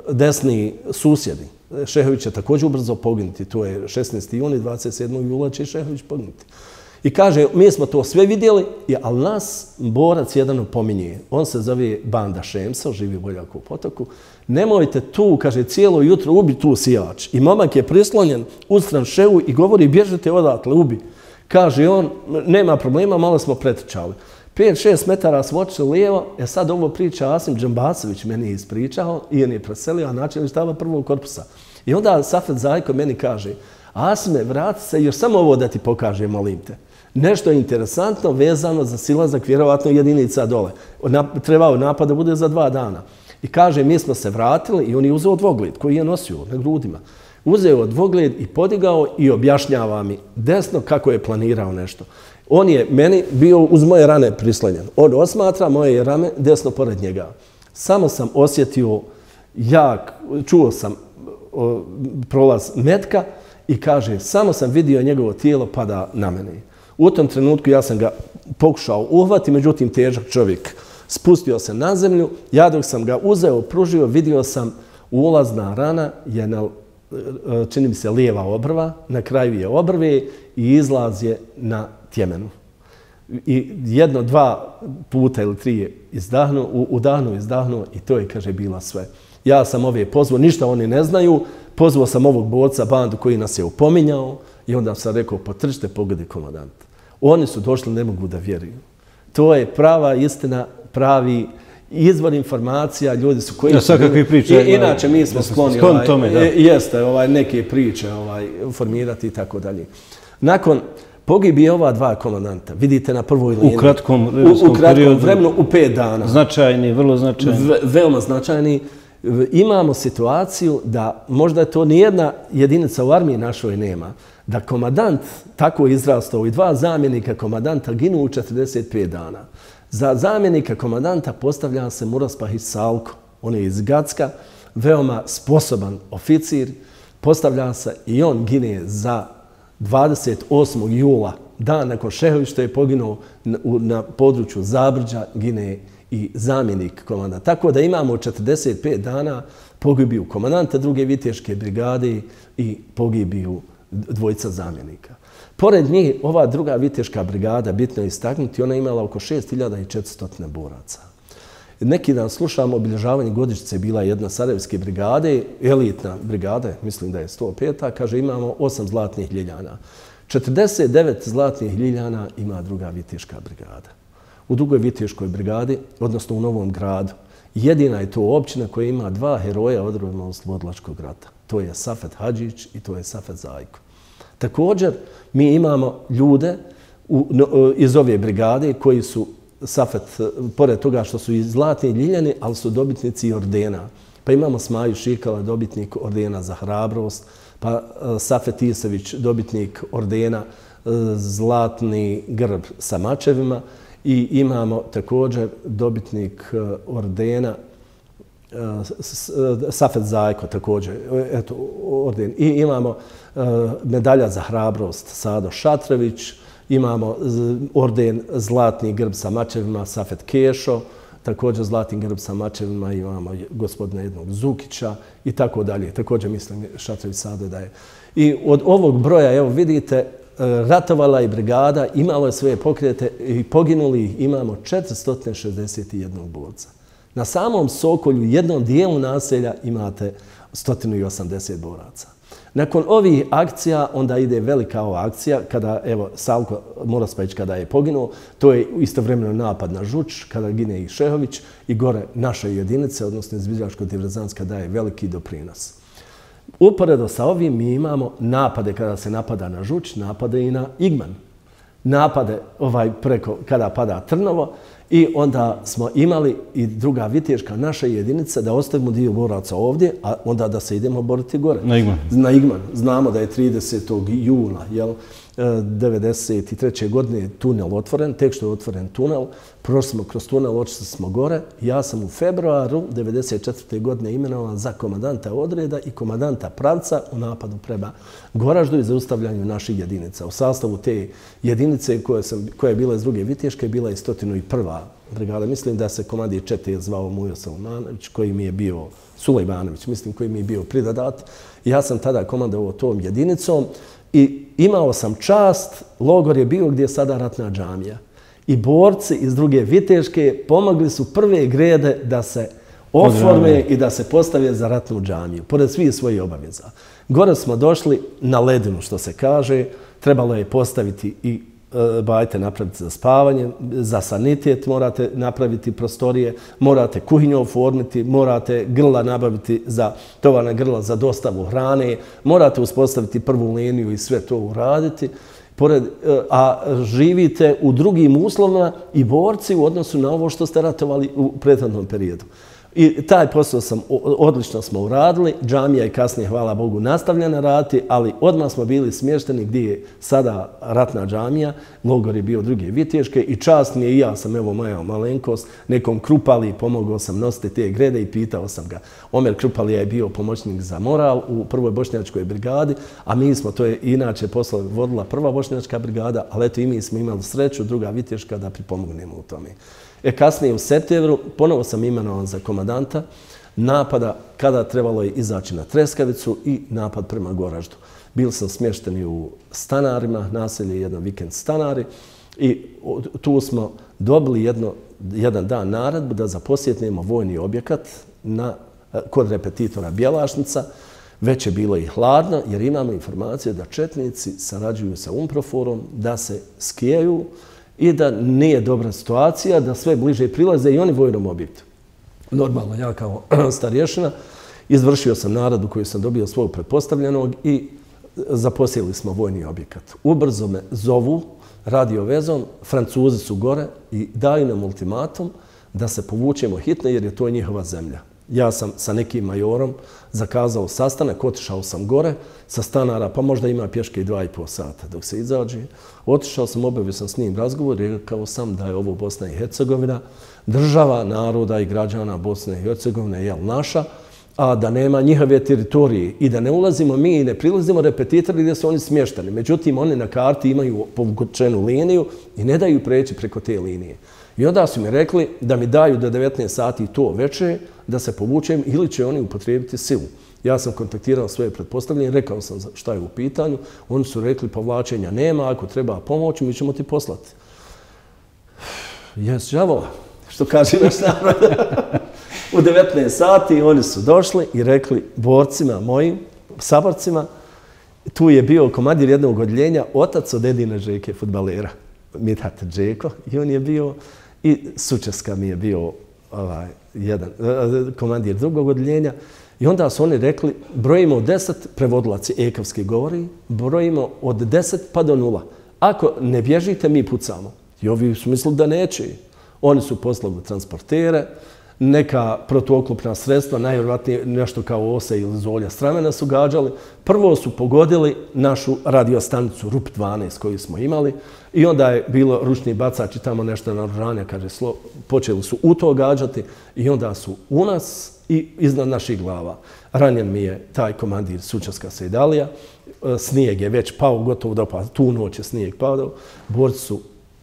[SPEAKER 2] desni susjedi. Šehović će također ubrzo poginuti. To je šesnaesti juni, dvadeset sedmog jula će Šehović poginuti. I kaže, mi smo to sve vidjeli, ali nas borac jedan opominje. On se zove Banda Šemsa, živi u Boljako u Potoku. Nemojte tu, kaže, cijelo jutro ubi tu sijač. I momak je prislonjen uz tranševu i govori, bježite odatle, ubi. Kaže on, nema problema, malo smo pretrčali. pet šest metara smo otišli lijevo, e sad ovo priča Asim Džambasović, meni je ispričao i on je preselio, a načelnik štaba prvog korpusa. I onda Safet Zajko meni kaže, Asime, vrati se, još samo ovo da ti pokažem, molim te. Nešto je interesantno vezano za silazak, vjerovatno jedinica dole. Trebao napad da bude za dva dana. I kaže, mi smo se vratili i on je uzeo dvogled koji je nosio na grudima. Uzeo dvogled i podigao i objašnjava mi desno kako je planirao nešto. On je meni bio uz moje rane prislonjen. On osmatra moje rame desno pored njega. Samo sam osjetio jak, čuo sam o, prolaz metka i kaže, samo sam vidio njegovo tijelo pada na mene. U tom trenutku ja sam ga pokušao uhvati, međutim težak čovjek spustio se na zemlju. Ja dok sam ga uzeo, pružio, vidio sam ulazna rana je na, čini mi se, lijeva obrva, na kraju je obrve i izlaz je na tjemenu. I jedno, dva puta ili tri je izdahnuo, udahnuo, izdahnuo i to je, kaže, bila sve. Ja sam ove pozvao, ništa oni ne znaju, pozvao sam ovog borca, bandu koji nas je upominjao i onda sam rekao, potrčite, pogodi komandant. Oni su došli, ne mogu da vjeruju. To je prava istina, pravi izvor informacija, ljudi su koji...
[SPEAKER 1] Ja, svakakvi priče.
[SPEAKER 2] I, inače, mi smo skloni
[SPEAKER 1] sklon
[SPEAKER 2] ovaj,
[SPEAKER 1] tome, da.
[SPEAKER 2] Jeste, ovaj, neke priče ovaj, formirati i tako dalje. Nakon pogibije ova dva komandanta, vidite na prvoj liniji.
[SPEAKER 1] U kratkom
[SPEAKER 2] vremenskom U kratkom vremenu, u pet dana.
[SPEAKER 1] Značajni, vrlo značajni.
[SPEAKER 2] Ve, veoma značajni. Imamo situaciju da možda to nijedna jedinica u armiji našoj nema, da komandant tako izrastao i dva zamjenika komandanta ginu u četrdeset pet dana. Za zamjenika komandanta postavlja se Muraspahić Salko. On je iz Gacka, veoma sposoban oficir. Postavlja se i on gine za dvadeset osmog jula, dan nakon Šehović što je poginuo na, na području Zabrđa, gine i zamjenik komandanta. Tako da imamo četrdeset pet dana pogibiju komandanta druge viteške brigade i pogibiju dvojica zamjenika. Pored njih, ova druga viteška brigada, bitno je istaknuti, ona je imala oko šest hiljada četiristo boraca. Neki dan slušamo obilježavanje godišnjice, bila jedna Sarajevske brigade, elitna brigada, mislim da je sto peta, kaže imamo osam zlatnih ljiljana. četrdeset devet zlatnih ljiljana ima druga viteška brigada. U drugoj viteškoj brigadi, odnosno u Novom Gradu, jedina je to općina koja ima dva heroja odrojima oslobodilačkog rata. To je Safet Hadžić i to je Safet Zajko. Također, mi imamo ljude u, no, iz ove brigade koji su Safet, pored toga što su i zlatni ljiljani, ali su dobitnici ordena. Pa imamo Smaju Šikala, dobitnik ordena za hrabrost, pa Safet Isević, dobitnik ordena zlatni grb sa mačevima i imamo također dobitnik ordena Safet Zajko također, eto, orden. I imamo medalja za hrabrost Sado Šatrević, imamo orden zlatni grb sa mačevima Safet Kešo, također zlatni grb sa mačevima imamo gospodina jednog Zukića i tako dalje. Također mislim Šatrević Sado da je. I od ovog broja, evo vidite, ratovala je brigada, imalo je svoje pokrete i poginuli imamo četiristo šezdeset jedan borca. Na samom Sokolju, jednom dijelu naselja, imate sto osamdeset boraca. Nakon ovih akcija, onda ide velika ova akcija, kada, evo, Salko Muraspahić kada je poginuo, to je istovremeno napad na Žuč, kada gine i Šehović, i gore naše jedinice, odnosno izviđačko-diverzantska, daje veliki doprinos. Uporedo sa ovim mi imamo napade kada se napada na Žuč, napade i na Igman. Napade ovaj preko kada pada Trnovo i onda smo imali i druga viteška naša jedinica da ostavimo dio boraca ovdje, a onda da se idemo boriti gore.
[SPEAKER 1] Na Igman.
[SPEAKER 2] Na Igman. Znamo da je tridesetog jula, jel, devedeset treće godine tunel otvoren, tek što je otvoren tunel, prošli smo kroz tunel, očili smo gore. Ja sam u februaru devedeset četvrte godine imenovan za komandanta odreda i komandanta pravca u napadu prema Goraždu i zaustavljanju naših jedinica. U sastavu te jedinice koja, sam, koja je bila iz druge viteške bila je sto prva brigada. Mislim da se komandir čete zvao Mujo Salmanović, koji mi je bio Sulejmanović, mislim, koji mi je bio pridodat. Ja sam tada komandovao tom jedinicom i imao sam čast, logor je bio gdje je sada ratna džamija. I borci iz druge viteške pomogli su prve grede da se oforme i da se postave za ratnu džamiju, pored svih svojih obaveza. Gore smo došli na ledinu, što se kaže, trebalo je postaviti i e, bajte napraviti za spavanje, za sanitet morate napraviti prostorije, morate kuhinju oformiti, morate grla nabaviti za tovarna grla za dostavu hrane, morate uspostaviti prvu liniju i sve to uraditi. Pored, a živite u drugim uslovima i borci u odnosu na ovo što ste ratovali u prethodnom periodu. I taj posao sam, odlično smo uradili, džamija je kasnije, hvala Bogu, nastavljena raditi, ali odmah smo bili smješteni gdje je sada ratna džamija, logor je bio druge Viteške i čast mi je i ja sam, evo moja malenkost, nekom Krupali, pomogao sam nositi te grede i pitao sam ga. Omer Krupalija je bio pomoćnik za moral u prvoj bošnjačkoj brigadi, a mi smo, to je inače posao vodila prva bošnjačka brigada, ali eto i mi smo imali sreću, druga Viteška, da pripomognemo u tome. E, kasnije u septembru ponovo sam imenovan za komandanta napada kada trebalo je izaći na Treskavicu i napad prema Goraždu. Bili sam smješteni u stanarima, naselje jedan vikend stanari i tu smo dobili jedno, jedan dan naredbu da zaposjetnemo vojni objekat na, kod repetitora Bjelašnica. Već je bilo i hladno jer imamo informacije da četnici sarađuju sa UNPROFOR-om, da se skijaju i da nije dobra situacija, da sve bliže prilaze i oni vojnom objektu. Normalno, ja kao starješina izvršio sam naredbu koju sam dobio svog pretpostavljenog i zaposjeli smo vojni objekat. Ubrzo me zovu radiovezom, Francuzi su gore i daju nam ultimatum da se povučemo hitno jer je to njihova zemlja. Ja sam sa nekim majorom zakazao sastanak, otišao sam gore sa stanara, pa možda ima pješke i dva i pol sata dok se izađe. Otišao sam, obavio sam s njim razgovor i rekao sam da je ovo Bosna i Hercegovina, država naroda i građana Bosne i Hercegovine je naša, a da nema njihove teritorije i da ne ulazimo mi i ne prilazimo repetitori gdje su oni smješteni. Međutim, oni na karti imaju povučenu liniju i ne daju preći preko te linije. I onda su mi rekli da mi daju do devetnaest sati to veče, da se povučem ili će oni upotrijebiti silu. Ja sam kontaktirao svoje pretpostavljenje, rekao sam šta je u pitanju. Oni su rekli povlačenja nema, ako treba pomoć, mi ćemo ti poslati. Jes, đavo, što kaže naš narod. U devetnaest sati oni su došli i rekli borcima mojim, saborcima, tu je bio komandir jednog odjeljenja, otac od Edina Žeke, fudbalera, Mithat Džeko, i on je bio, i Sučeska mi je bio ovaj, jedan, komandir drugog odjeljenja. I onda su oni rekli, brojimo od deset, prevodilac je ekavski govori, brojimo od deset pa do nula. Ako ne bježite, mi pucamo. I ovi su mislili da neće. Oni su poslali transportere, neka protuoklopna sredstva, najvjerojatnije nešto kao ose ili zolja stramena su gađali. Prvo su pogodili našu radiostanicu R U P dvanaest koju smo imali i onda je bilo ručni bacač i tamo nešto naoružanja, kaže, slo, počeli su u to gađati i onda su u nas i iznad naših glava. Ranjen mi je taj komandir Sučeska Sejdalija, snijeg je već pao, gotovo da pa tu noć je snijeg padao, borci su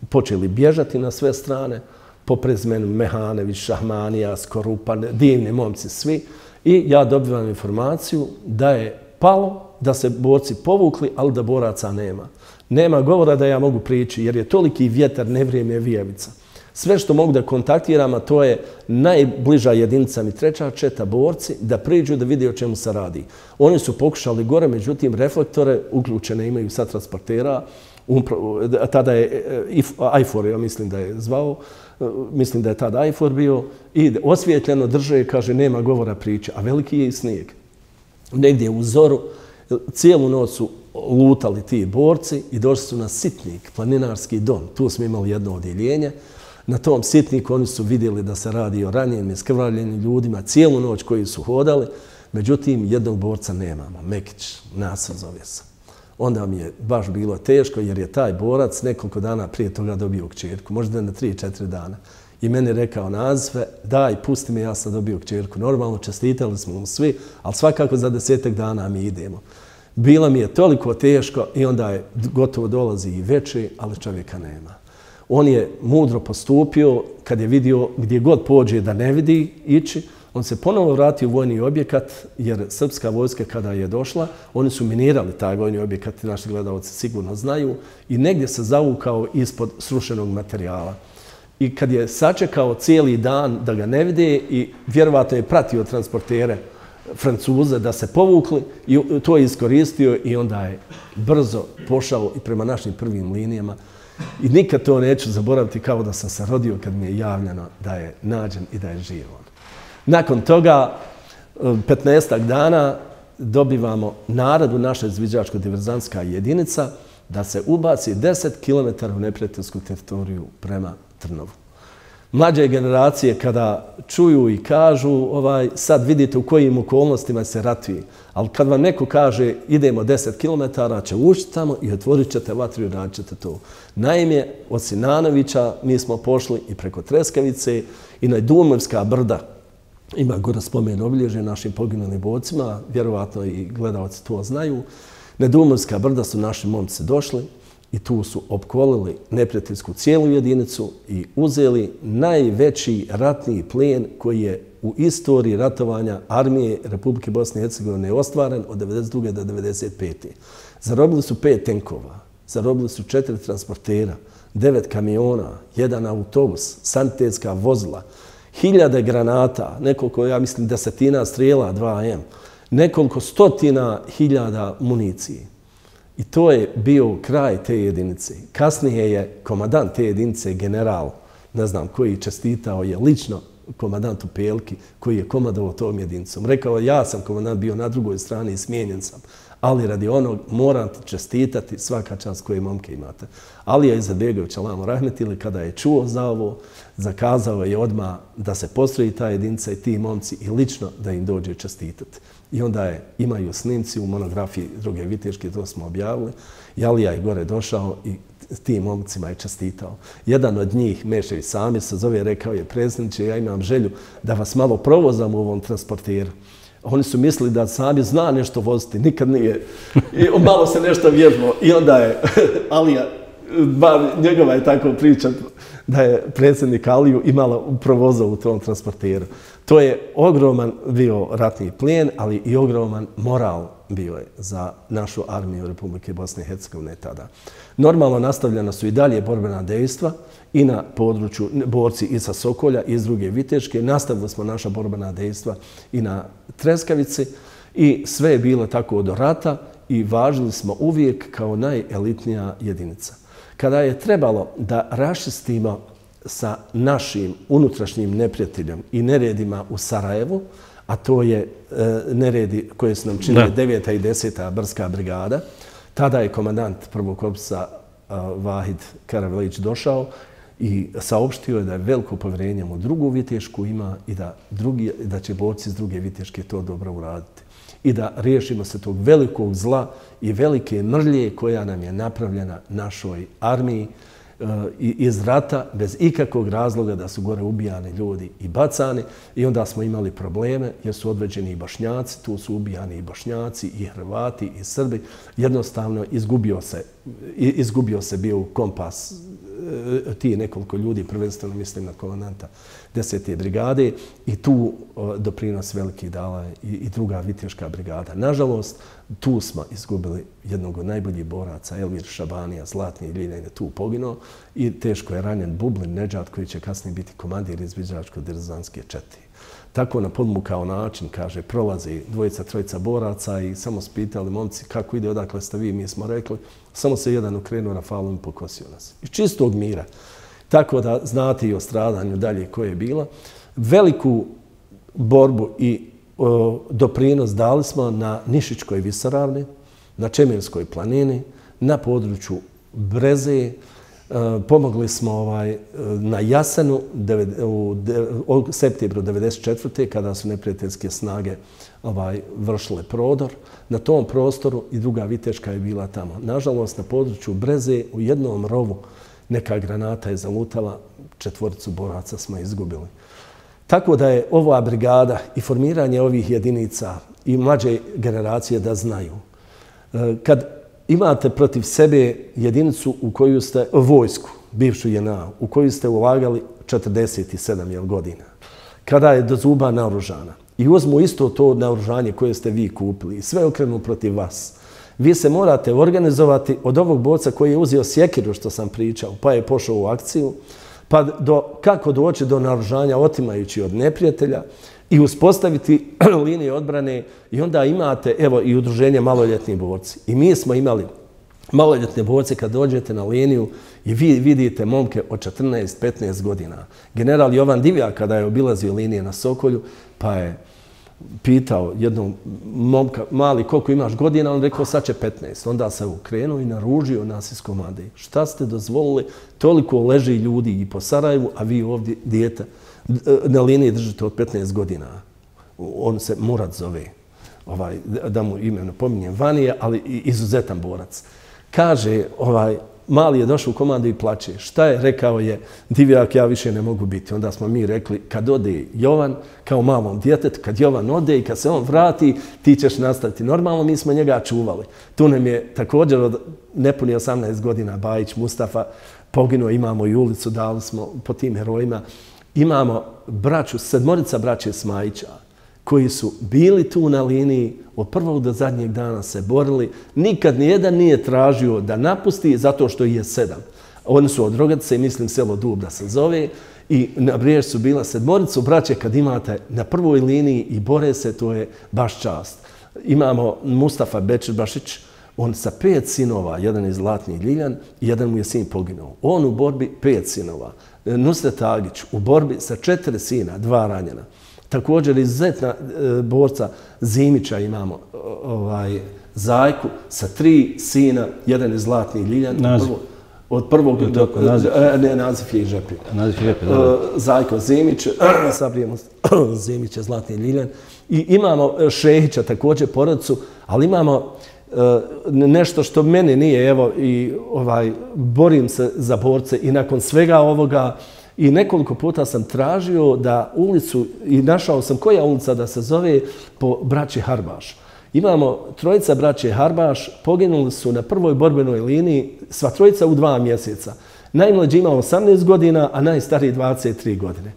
[SPEAKER 2] počeli bježati na sve strane, po prezimenu Mehanević, Šahmanija, Skorupan, divni momci svi. I ja dobivam informaciju da je palo, da se borci povukli, ali da boraca nema. Nema govora da ja mogu prići, jer je toliki vjetar, nevrijeme je vijevica. Sve što mogu da kontaktiram, a to je najbliža jedinica mi treća četa borci, da priđu da vidi o čemu se radi. Oni su pokušali gore, međutim, reflektore uključene imaju sa transportera, tada je Ajfor, ja mislim da je zvao, mislim da je tada Ajfor bio, i osvijetljeno drže, kaže, nema govora priče, a veliki je i snijeg. Negdje u zoru, cijelu noć su lutali ti borci i došli su na Sitnik, planinarski dom. Tu smo imali jedno odjeljenje. Na tom Sitniku oni su vidjeli da se radi o ranjenim, skrvavljenim ljudima, cijelu noć koji su hodali. Međutim, jednog borca nemamo, Mekić, Nasr zove se. Onda mi je baš bilo teško jer je taj borac nekoliko dana prije toga dobio kćerku, možda na tri četiri dana. I meni rekao nazve, daj, pusti me, ja sam dobio kćerku. Normalno, čestitali smo mu svi, ali svakako za desetak dana mi idemo. Bilo mi je toliko teško i onda je gotovo dolazi i veče, ali čovjeka nema. On je mudro postupio kad je vidio gdje god pođe da ne vidi ići. On se ponovo vratio u vojni objekat jer srpska vojska kada je došla, oni su minirali taj vojni objekat, naši gledalci sigurno znaju, i negdje se zavukao ispod srušenog materijala. I kad je sačekao cijeli dan da ga ne vide i vjerovatno je pratio transportere Francuze da se povukli i to je iskoristio i onda je brzo pošao i prema našim prvim linijama. I nikad to neću zaboraviti kao da sam se rodio kad mi je javljeno da je nađen i da je živ. Nakon toga, petnaestak dana, dobivamo naredbu naša izviđačko-diverzantska jedinica da se ubaci deset kilometara u neprijateljsku teritoriju prema Trnovu. Mlađe generacije kada čuju i kažu, ovaj, sad vidite u kojim okolnostima se ratuje. Ali kad vam neko kaže idemo deset kilometara, će ući tamo i otvorit ćete vatru i radit ćete to. Naime, od Sinanovića mi smo pošli i preko Treskavice i na Dumovska brda. Ima gore spomen obilježje našim poginulim borcima, vjerovatno i gledalci to znaju. Na Dumovska brda su naši momci došli i tu su opkolili neprijateljsku cijelu jedinicu i uzeli najveći ratni plijen koji je u istoriji ratovanja armije Republike Bosne i Hercegovine ostvaren od devedeset druge do devedeset pete Zarobili su pet tenkova, zarobili su četiri transportera, devet kamiona, jedan autobus, sanitetska vozila, hiljade granata, nekoliko, ja mislim, desetina strijela dva em, nekoliko stotina hiljada municije. I to je bio kraj te jedinice. Kasnije je komandant te jedinice, general, ne znam koji, čestitao je lično komandantu Pelki, koji je komandovao tom jedinicom. Rekao, ja sam komandant bio na drugoj strani i smijenjen sam, ali radi onog moram ti čestitati svaka čast koje momke imate. Alija Izetbegović, alamo rahmetili, kada je čuo za ovo, zakazao je odmah da se postroji ta jedinica i ti momci i lično da im dođe čestitati. I onda je, imaju snimci u monografiji Druge viteške, to smo objavili. I Alija je gore došao i tim momcima je čestitao. Jedan od njih, Mešević Samir, se zove, rekao je, predsjedniče, ja imam želju da vas malo provozam u ovom transporteru. Oni su mislili da Samir zna nešto voziti, nikad nije. I malo se nešto vježbao. I onda je Alija, bar njegova je tako priča, da je predsjednik Aliju imala provozao u tom transporteru. To je ogroman bio ratni plijen, ali i ogroman moral bio je za našu armiju Republike Bosne i Hercegovine tada. Normalno nastavljena su i dalje borbena dejstva i na području borci i sa Sokolja i iz Druge viteške. Nastavili smo naša borbena dejstva i na Treskavici i sve je bilo tako do rata i važili smo uvijek kao najelitnija jedinica. Kada je trebalo da raščistimo sa našim unutrašnjim neprijateljom i neredima u Sarajevu, a to je e, neredi koje su nam činili deveta i deseta Brdska brigada, tada je komandant prvog korpusa e, Vahid Karavelić došao i saopštio je da je veliko povjerenje u drugu vitešku ima i da, drugi, da će borci iz Druge viteške to dobro uraditi. I da riješimo se tog velikog zla i velike mrlje koja nam je napravljena našoj armiji iz rata bez ikakvog razloga da su gore ubijani ljudi i bacani i onda smo imali probleme jer su odveđeni i Bošnjaci, tu su ubijani i Bošnjaci i Hrvati i Srbi. Jednostavno izgubio se, izgubio se bio kompas ti nekoliko ljudi, prvenstveno mislim na komandanta desete brigade i tu doprinos veliki dala i, i druga viteška brigada. Nažalost, tu smo izgubili jednog od najboljih boraca, Elvir Šabanija, Zlatni Ljiljane, tu poginuo i teško je ranjen Bublin Nedžad koji će kasnije biti komandir izviđačko-derzanske čete. Tako na podmukao način, kaže, prolazi dvojica, trojica boraca i samo spitali momci kako ide, odakle ste vi, mi smo rekli, samo se jedan okrenuo Rafalom i pokosio nas. Iz čistog mira. Tako da znate i o stradanju dalje koje je bila. Veliku borbu i o, doprinos dali smo na Nišičkoj visoravni, na Čemirskoj planini, na području Breze. Pomogli smo ovaj, na Jasenu u septembru devedeset četvrte kada su neprijateljske snage ovaj, vršile prodor. Na tom prostoru i Druga viteška je bila tamo. Nažalost, na području Breze u jednom rovu neka granata je zalutala, četvoricu boraca smo izgubili. Tako da je ova brigada i formiranje ovih jedinica i mlađe generacije da znaju. Kad imate protiv sebe jedinicu u koju ste, vojsku, bivšu J N A, u koju ste ulagali četrdeset sedam godina, kada je do zuba naoružana i uzmu isto to naoružanje koje ste vi kupili i sve okrenu protiv vas, vi se morate organizovati od ovog borca koji je uzeo sjekiru, što sam pričao, pa je pošao u akciju, pa do, kako doći do naoružanja otimajući od neprijatelja i uspostaviti linije odbrane i onda imate, evo, i udruženje maloljetni borci. I mi smo imali maloljetne borce kad dođete na liniju i vi vidite momke od četrnaest petnaest godina. General Jovan Divjak kada je obilazio linije na Sokolju, pa je pitao jednog momka, mali, koliko imaš godina, on rekao sad će petnaest. Onda se ukrenuo i naružio nas iz komande. Šta ste dozvolili? Toliko leži ljudi i po Sarajevu, a vi ovdje dijete na liniji držite od petnaest godina. On se Murat zove, ovaj, da mu ime ne pominjem, Vanija, ali izuzetan borac. Kaže, ovaj, mali je došao u komandu i plače. Šta je? Rekao je, Divjak, ja više ne mogu biti. Onda smo mi rekli, kad ode Jovan, kao malom djetetu, kad Jovan ode i kad se on vrati, ti ćeš nastaviti. Normalno, mi smo njega čuvali. Tu nam je također od nepuni osamnaest godina Bajić Mustafa poginuo, imamo i ulicu, dali smo po tim herojima. Imamo braću, sedmorica braće Smajića, koji su bili tu na liniji, od prvog do zadnjeg dana se borili. Nikad nijedan nije tražio da napusti zato što je sedam. Oni su od Rogatice, mislim selo Dub da se zove, i na Brijež su bila sedmoricu braće. Kad imate na prvoj liniji i bore se, to je baš čast. Imamo Mustafa Bečirbašić, on sa pet sinova, jedan je Zlatni Ljiljan, jedan mu je sin poginuo. On u borbi pet sinova. Nusret Agić u borbi sa četiri sina, dva ranjena. Također izuzetna borca Zimića imamo, ovaj, Zajku sa tri sina, jedan je Zlatni Ljiljan.
[SPEAKER 1] Naziv.
[SPEAKER 2] Od prvog do...
[SPEAKER 1] Naziv.
[SPEAKER 2] Ne, naziv je i Žepi.
[SPEAKER 1] Naziv je Žepi, da.
[SPEAKER 2] Zajko Zimić, Sabrijemo Zimića, Zlatni Ljiljan. I imamo Šehića također porodicu, ali imamo nešto što meni nije, evo, i ovaj, borim se za borce i nakon svega ovoga i nekoliko puta sam tražio da ulicu, i našao sam koja ulica da se zove po braći Harbaš. Imamo trojica braće Harbaš, poginuli su na prvoj borbenoj liniji, sva trojica u dva mjeseca. Najmlađi ima osamnaest godina, a najstariji dvadeset tri godine.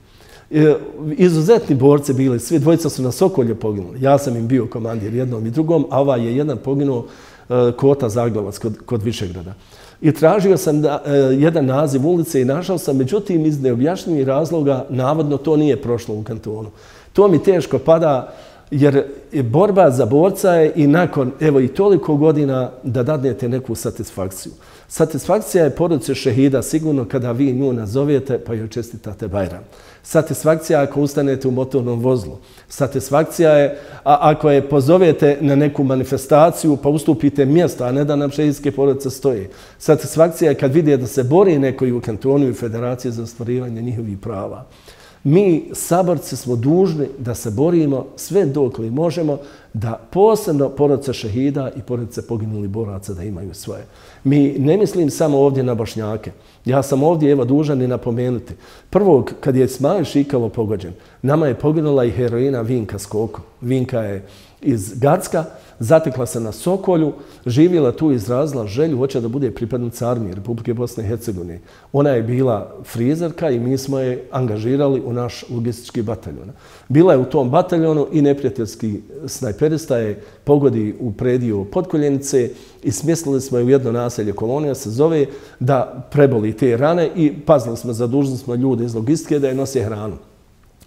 [SPEAKER 2] Izuzetni borci bili, svi dvojica su na Sokolje poginuli. Ja sam im bio komandir jednom i drugom, a ovaj je jedan poginuo Kota Zaglovac kod, kod Višegrada. I tražio sam da, jedan naziv ulice i našao sam, međutim iz neobjašnjivih razloga navodno to nije prošlo u kantonu. To mi teško pada jer borba za borca je i nakon evo i toliko godina da dadnete neku satisfakciju. Satisfakcija je porodice šehida sigurno kada vi nju nazovete pa joj čestitate Bajram. Satisfakcija ako ustanete u motornom vozlu. Satisfakcija je a, ako je pozovete na neku manifestaciju pa ustupite mjesto, a ne da nam šehidske porodice stoje. Satisfakcija je kad vidje da se bori neko i u kantonu i federaciji za ostvarivanje njihovih prava. Mi, saborci, smo dužni da se borimo sve dok li možemo da posebno porodice šehida i porodice poginulih boraca da imaju svoje. Mi ne mislim samo ovdje na Bošnjake. Ja sam ovdje evo dužan i napomenuti. Prvog, kad je Ismail Šikalo pogođen, nama je poginula i heroina Vinka Skoko. Vinka je iz Gacka, zatekla se na Sokolju, živjela tu i izrazila želju, hoće da bude pripadnica armije Republike Bosne i Hercegovine. Ona je bila frizerka i mi smo je angažirali u naš logistički bataljon. Bila je u tom bataljonu i neprijateljski snajperista je pogodi u predio Podkoljenice i smjestili smo je u jedno naselje Kolonija, se zove, da preboli te rane i pazili smo, zadužili smo ljude iz logistike da je nose hranu.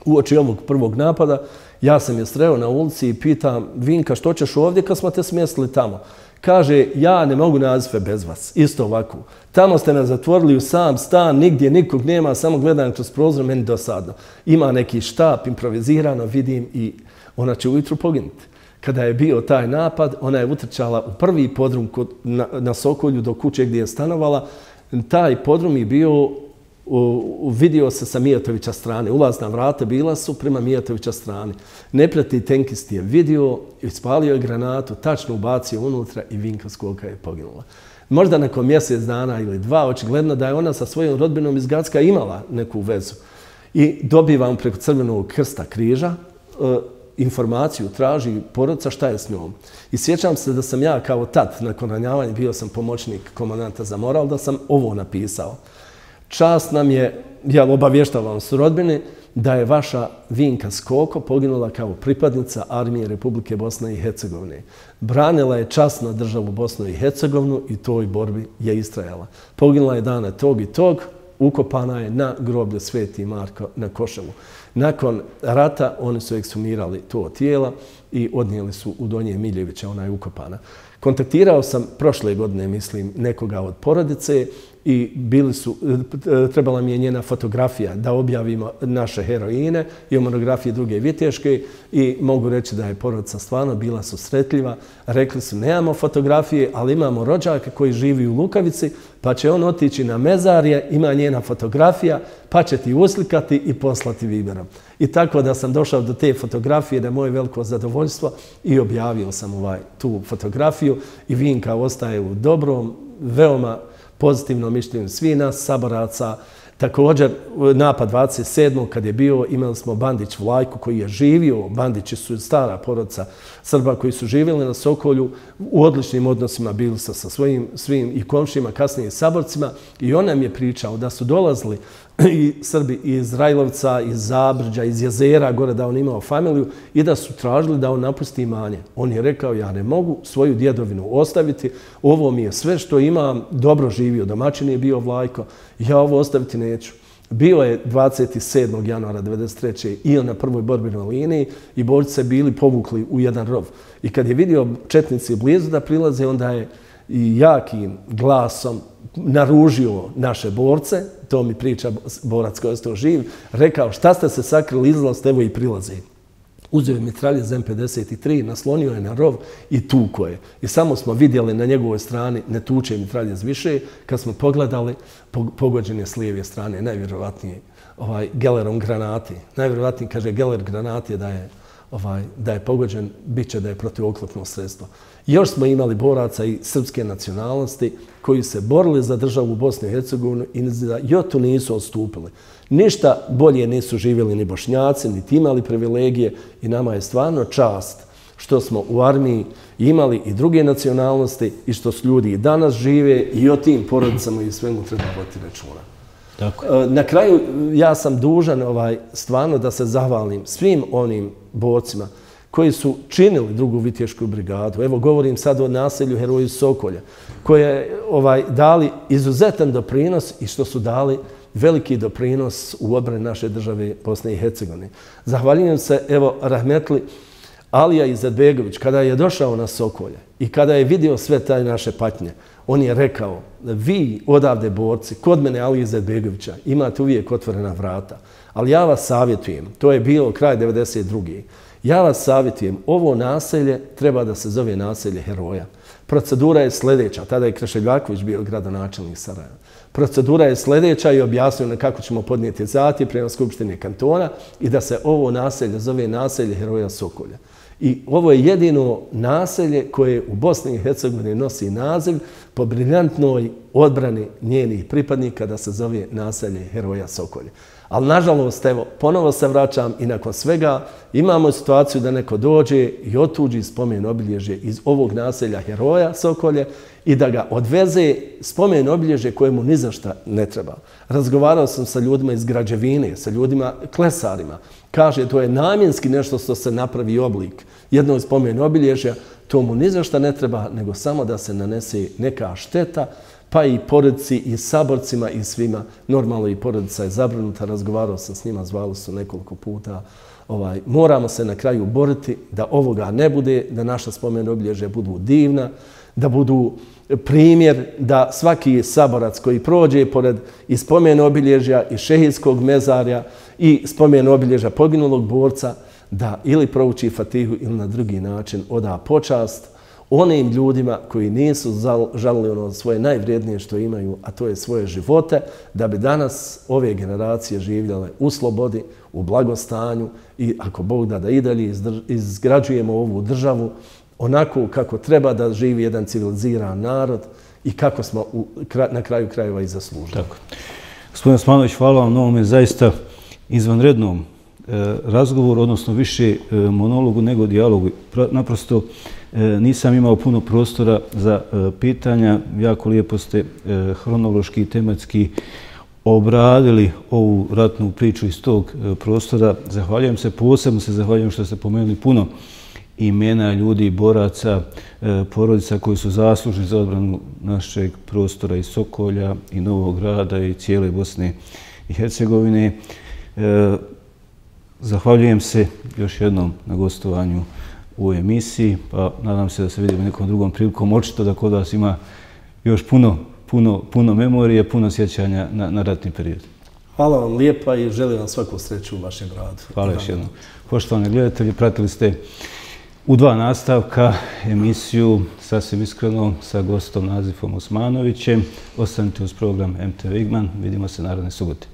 [SPEAKER 2] Uoči ovog prvog napada, ja sam je sreo na ulici i pitam, Vinka, što ćeš ovdje kad smo te smjestili tamo? Kaže, ja ne mogu nazive bez vas, isto ovako. Tamo ste nas zatvorili u sam stan, nigdje nikog nema, samo gledam kroz prozor, meni dosadno. Ima neki štap, improvizirano, vidim i ona će ujutru poginuti. Kada je bio taj napad, ona je utrčala u prvi podrum kod, na, na Sokolju do kuće gdje je stanovala. Taj podrum je bio U, vidio se sa Mijatovića strane. Ulazna vrata bila su prema Mijatovića strane. Neprijatelj tenkist je vidio, ispalio je granatu, tačno ubacio unutra i Vinka Skoka je poginula. Možda nakon mjesec dana ili dva, očigledno da je ona sa svojom rodbinom iz Gacka imala neku vezu. I dobivam preko Crvenog krsta križa e, informaciju, traži porodica šta je s njom. I sjećam se da sam ja kao tad, nakon ranjavanja, bio sam pomoćnik komandanta za moral, da sam ovo napisao. Čast nam je, ja obavještavam s rodbine, da je vaša Vinka Skoko poginula kao pripadnica armije Republike Bosne i Hercegovine. Branila je časno državu Bosnu i Hercegovinu i toj borbi je istrajala. Poginula je dana tog i tog, ukopana je na groblju Sveti Marko na Koševu. Nakon rata oni su ekshumirali to tijela i odnijeli su u Donje Miljevića, ona je ukopana. Kontaktirao sam prošle godine, mislim, nekoga od porodice i bili su, trebala mi je njena fotografija da objavimo naše heroine i monografije druge viteške i mogu reći da je porodica stvarno bila susretljiva. Rekli su nemamo fotografije, ali imamo rođaka koji živi u Lukavici, pa će on otići na mezarje, ima njena fotografija, pa će ti uslikati i poslati Viberom. I tako da sam došao do te fotografije, da je moje veliko zadovoljstvo i objavio sam ovaj, tu fotografiju i Vinka ostaje u dobrom, veoma pozitivnom mišljenju svih nas saboraca. Također, napad dvadeset sedmog kad je bio, imali smo Bandić Vlajku koji je živio, Bandići su stara porodica Srba koji su živjeli na Sokolju, u odličnim odnosima bili sa, sa svojim svim i komšijima, kasnije i saborcima i on nam je pričao da su dolazili i Srbi iz Rajlovca, iz Zabrđa, iz Jezera, gore da on imao familiju i da su tražili da on napusti imanje. On je rekao, ja ne mogu svoju djedovinu ostaviti, ovo mi je sve što imam, dobro živio, domaćin je bio Vlajko, ja ovo ostaviti neću. Bio je dvadeset sedmog januara devedeset treće i on na prvoj borbenoj liniji i borci se bili povukli u jedan rov. I kad je vidio četnici blizu da prilaze, onda je i jakim glasom naružio naše borce, to mi priča borac koji je ostao živ, rekao šta ste se sakrili, izlazite, evo i prilaze. Uzeo je mitraljez M pedeset tri, naslonio je na rov i tuko je. I samo smo vidjeli na njegovoj strani ne tuče mitraljez više, kad smo pogledali, pogođen je s lijeve strane, najvjerovatnije ovaj, gelerom granati. Najvjerovatnije, kaže, geler granat je da je Ovaj, da je pogođen, bit će da je protivoklopno sredstvo. Još smo imali boraca i srpske nacionalnosti koji se borili za državu Bosne i Hercegovine i za jotu nisu odstupili. Ništa bolje nisu živjeli ni Bošnjaci, niti imali privilegije i nama je stvarno čast što smo u armiji imali i druge nacionalnosti i što su ljudi i danas žive i o tim porodicama i svemu treba voditi računa. Tako. Na kraju ja sam dužan ovaj, stvarno da se zahvalim svim onim borcima koji su činili drugu vitješku brigadu. Evo govorim sad o naselju Heroju Sokolja, koje ovaj, dali izuzetan doprinos i što su dali veliki doprinos u odbrani naše države Bosne i Hercegovine. Zahvaljujem se evo rahmetli Alija Izetbegović kada je došao na Sokolje i kada je vidio sve taj naše patnje. On je rekao, vi odavde borci, kod mene Alije Izetbegovića, imate uvijek otvorena vrata. Ali ja vas savjetujem, to je bilo kraj devedeset druge. Ja vas savjetujem, ovo naselje treba da se zove naselje heroja. Procedura je sljedeća, tada je Krešeljaković bio gradonačelnik Sarajeva. Procedura je sljedeća i objasnio kako ćemo podnijeti zahtjev prema Skupštini kantona i da se ovo naselje zove naselje heroja Sokolja. I ovo je jedino naselje koje u Bosni i Hercegovini nosi naziv po briljantnoj odbrani njenih pripadnika da se zove naselje heroja Sokolja. Ali nažalost, evo, ponovo se vraćam i nakon svega imamo situaciju da neko dođe i otuđi spomen obilježje iz ovog naselja heroja Sokolje i da ga odveze spomen obilježje kojemu ni za šta ne treba. Razgovarao sam sa ljudima iz građevine, sa ljudima klesarima. Kaže, to je namjenski nešto što se napravi oblik jednog spomen obilježja, to mu ni za šta ne treba, nego samo da se nanese neka šteta, pa i porodici i saborcima i svima. Normalno i porodica je zabrinuta, razgovarao sam s njima, zvali su nekoliko puta. Ovaj, moramo se na kraju boriti da ovoga ne bude, da naša spomen obilježja budu divna, da budu primjer da svaki saborac koji prođe pored i spomen obilježja i šehidskog mezarja i spomen obilježja poginulog borca, da ili prouči Fatihu ili na drugi način oda počast onim ljudima koji nisu žalili ono svoje najvrijednije što imaju, a to je svoje živote, da bi danas ove generacije živjele u slobodi, u blagostanju i ako Bog da da i dalje izgrađujemo ovu državu onako kako treba da živi jedan civiliziran narod i kako smo u, na kraju krajeva i zaslužili. Tako.
[SPEAKER 1] Gospodin Osmanović, hvala vam na ovome zaista izvanrednom razgovoru, odnosno više monologu nego dijalogu. Naprosto nisam imao puno prostora za pitanja. Jako lijepo ste hronološki i tematski obradili ovu ratnu priču iz tog prostora. Zahvaljujem se, posebno se zahvaljujem što ste pomenuli puno imena ljudi, boraca, porodica koji su zaslužni za odbranu našeg prostora i Sokolja i Novog Grada i cijele Bosne i Hercegovine. Zahvaljujem se još jednom na gostovanju u emisiji, pa nadam se da se vidimo nekom drugom prilikom. Očito da kod vas ima još puno puno, puno memorije, puno sjećanja na, na ratni period.
[SPEAKER 2] Hvala vam lijepa i želim vam svaku sreću u vašem radu.
[SPEAKER 1] Hvala još jednom. Poštovani gledatelji, pratili ste u dva nastavka emisiju Sasvim iskreno sa gostom Nazifom Osmanovićem. Ostanite uz program M T V Igman. Vidimo se naredne subote.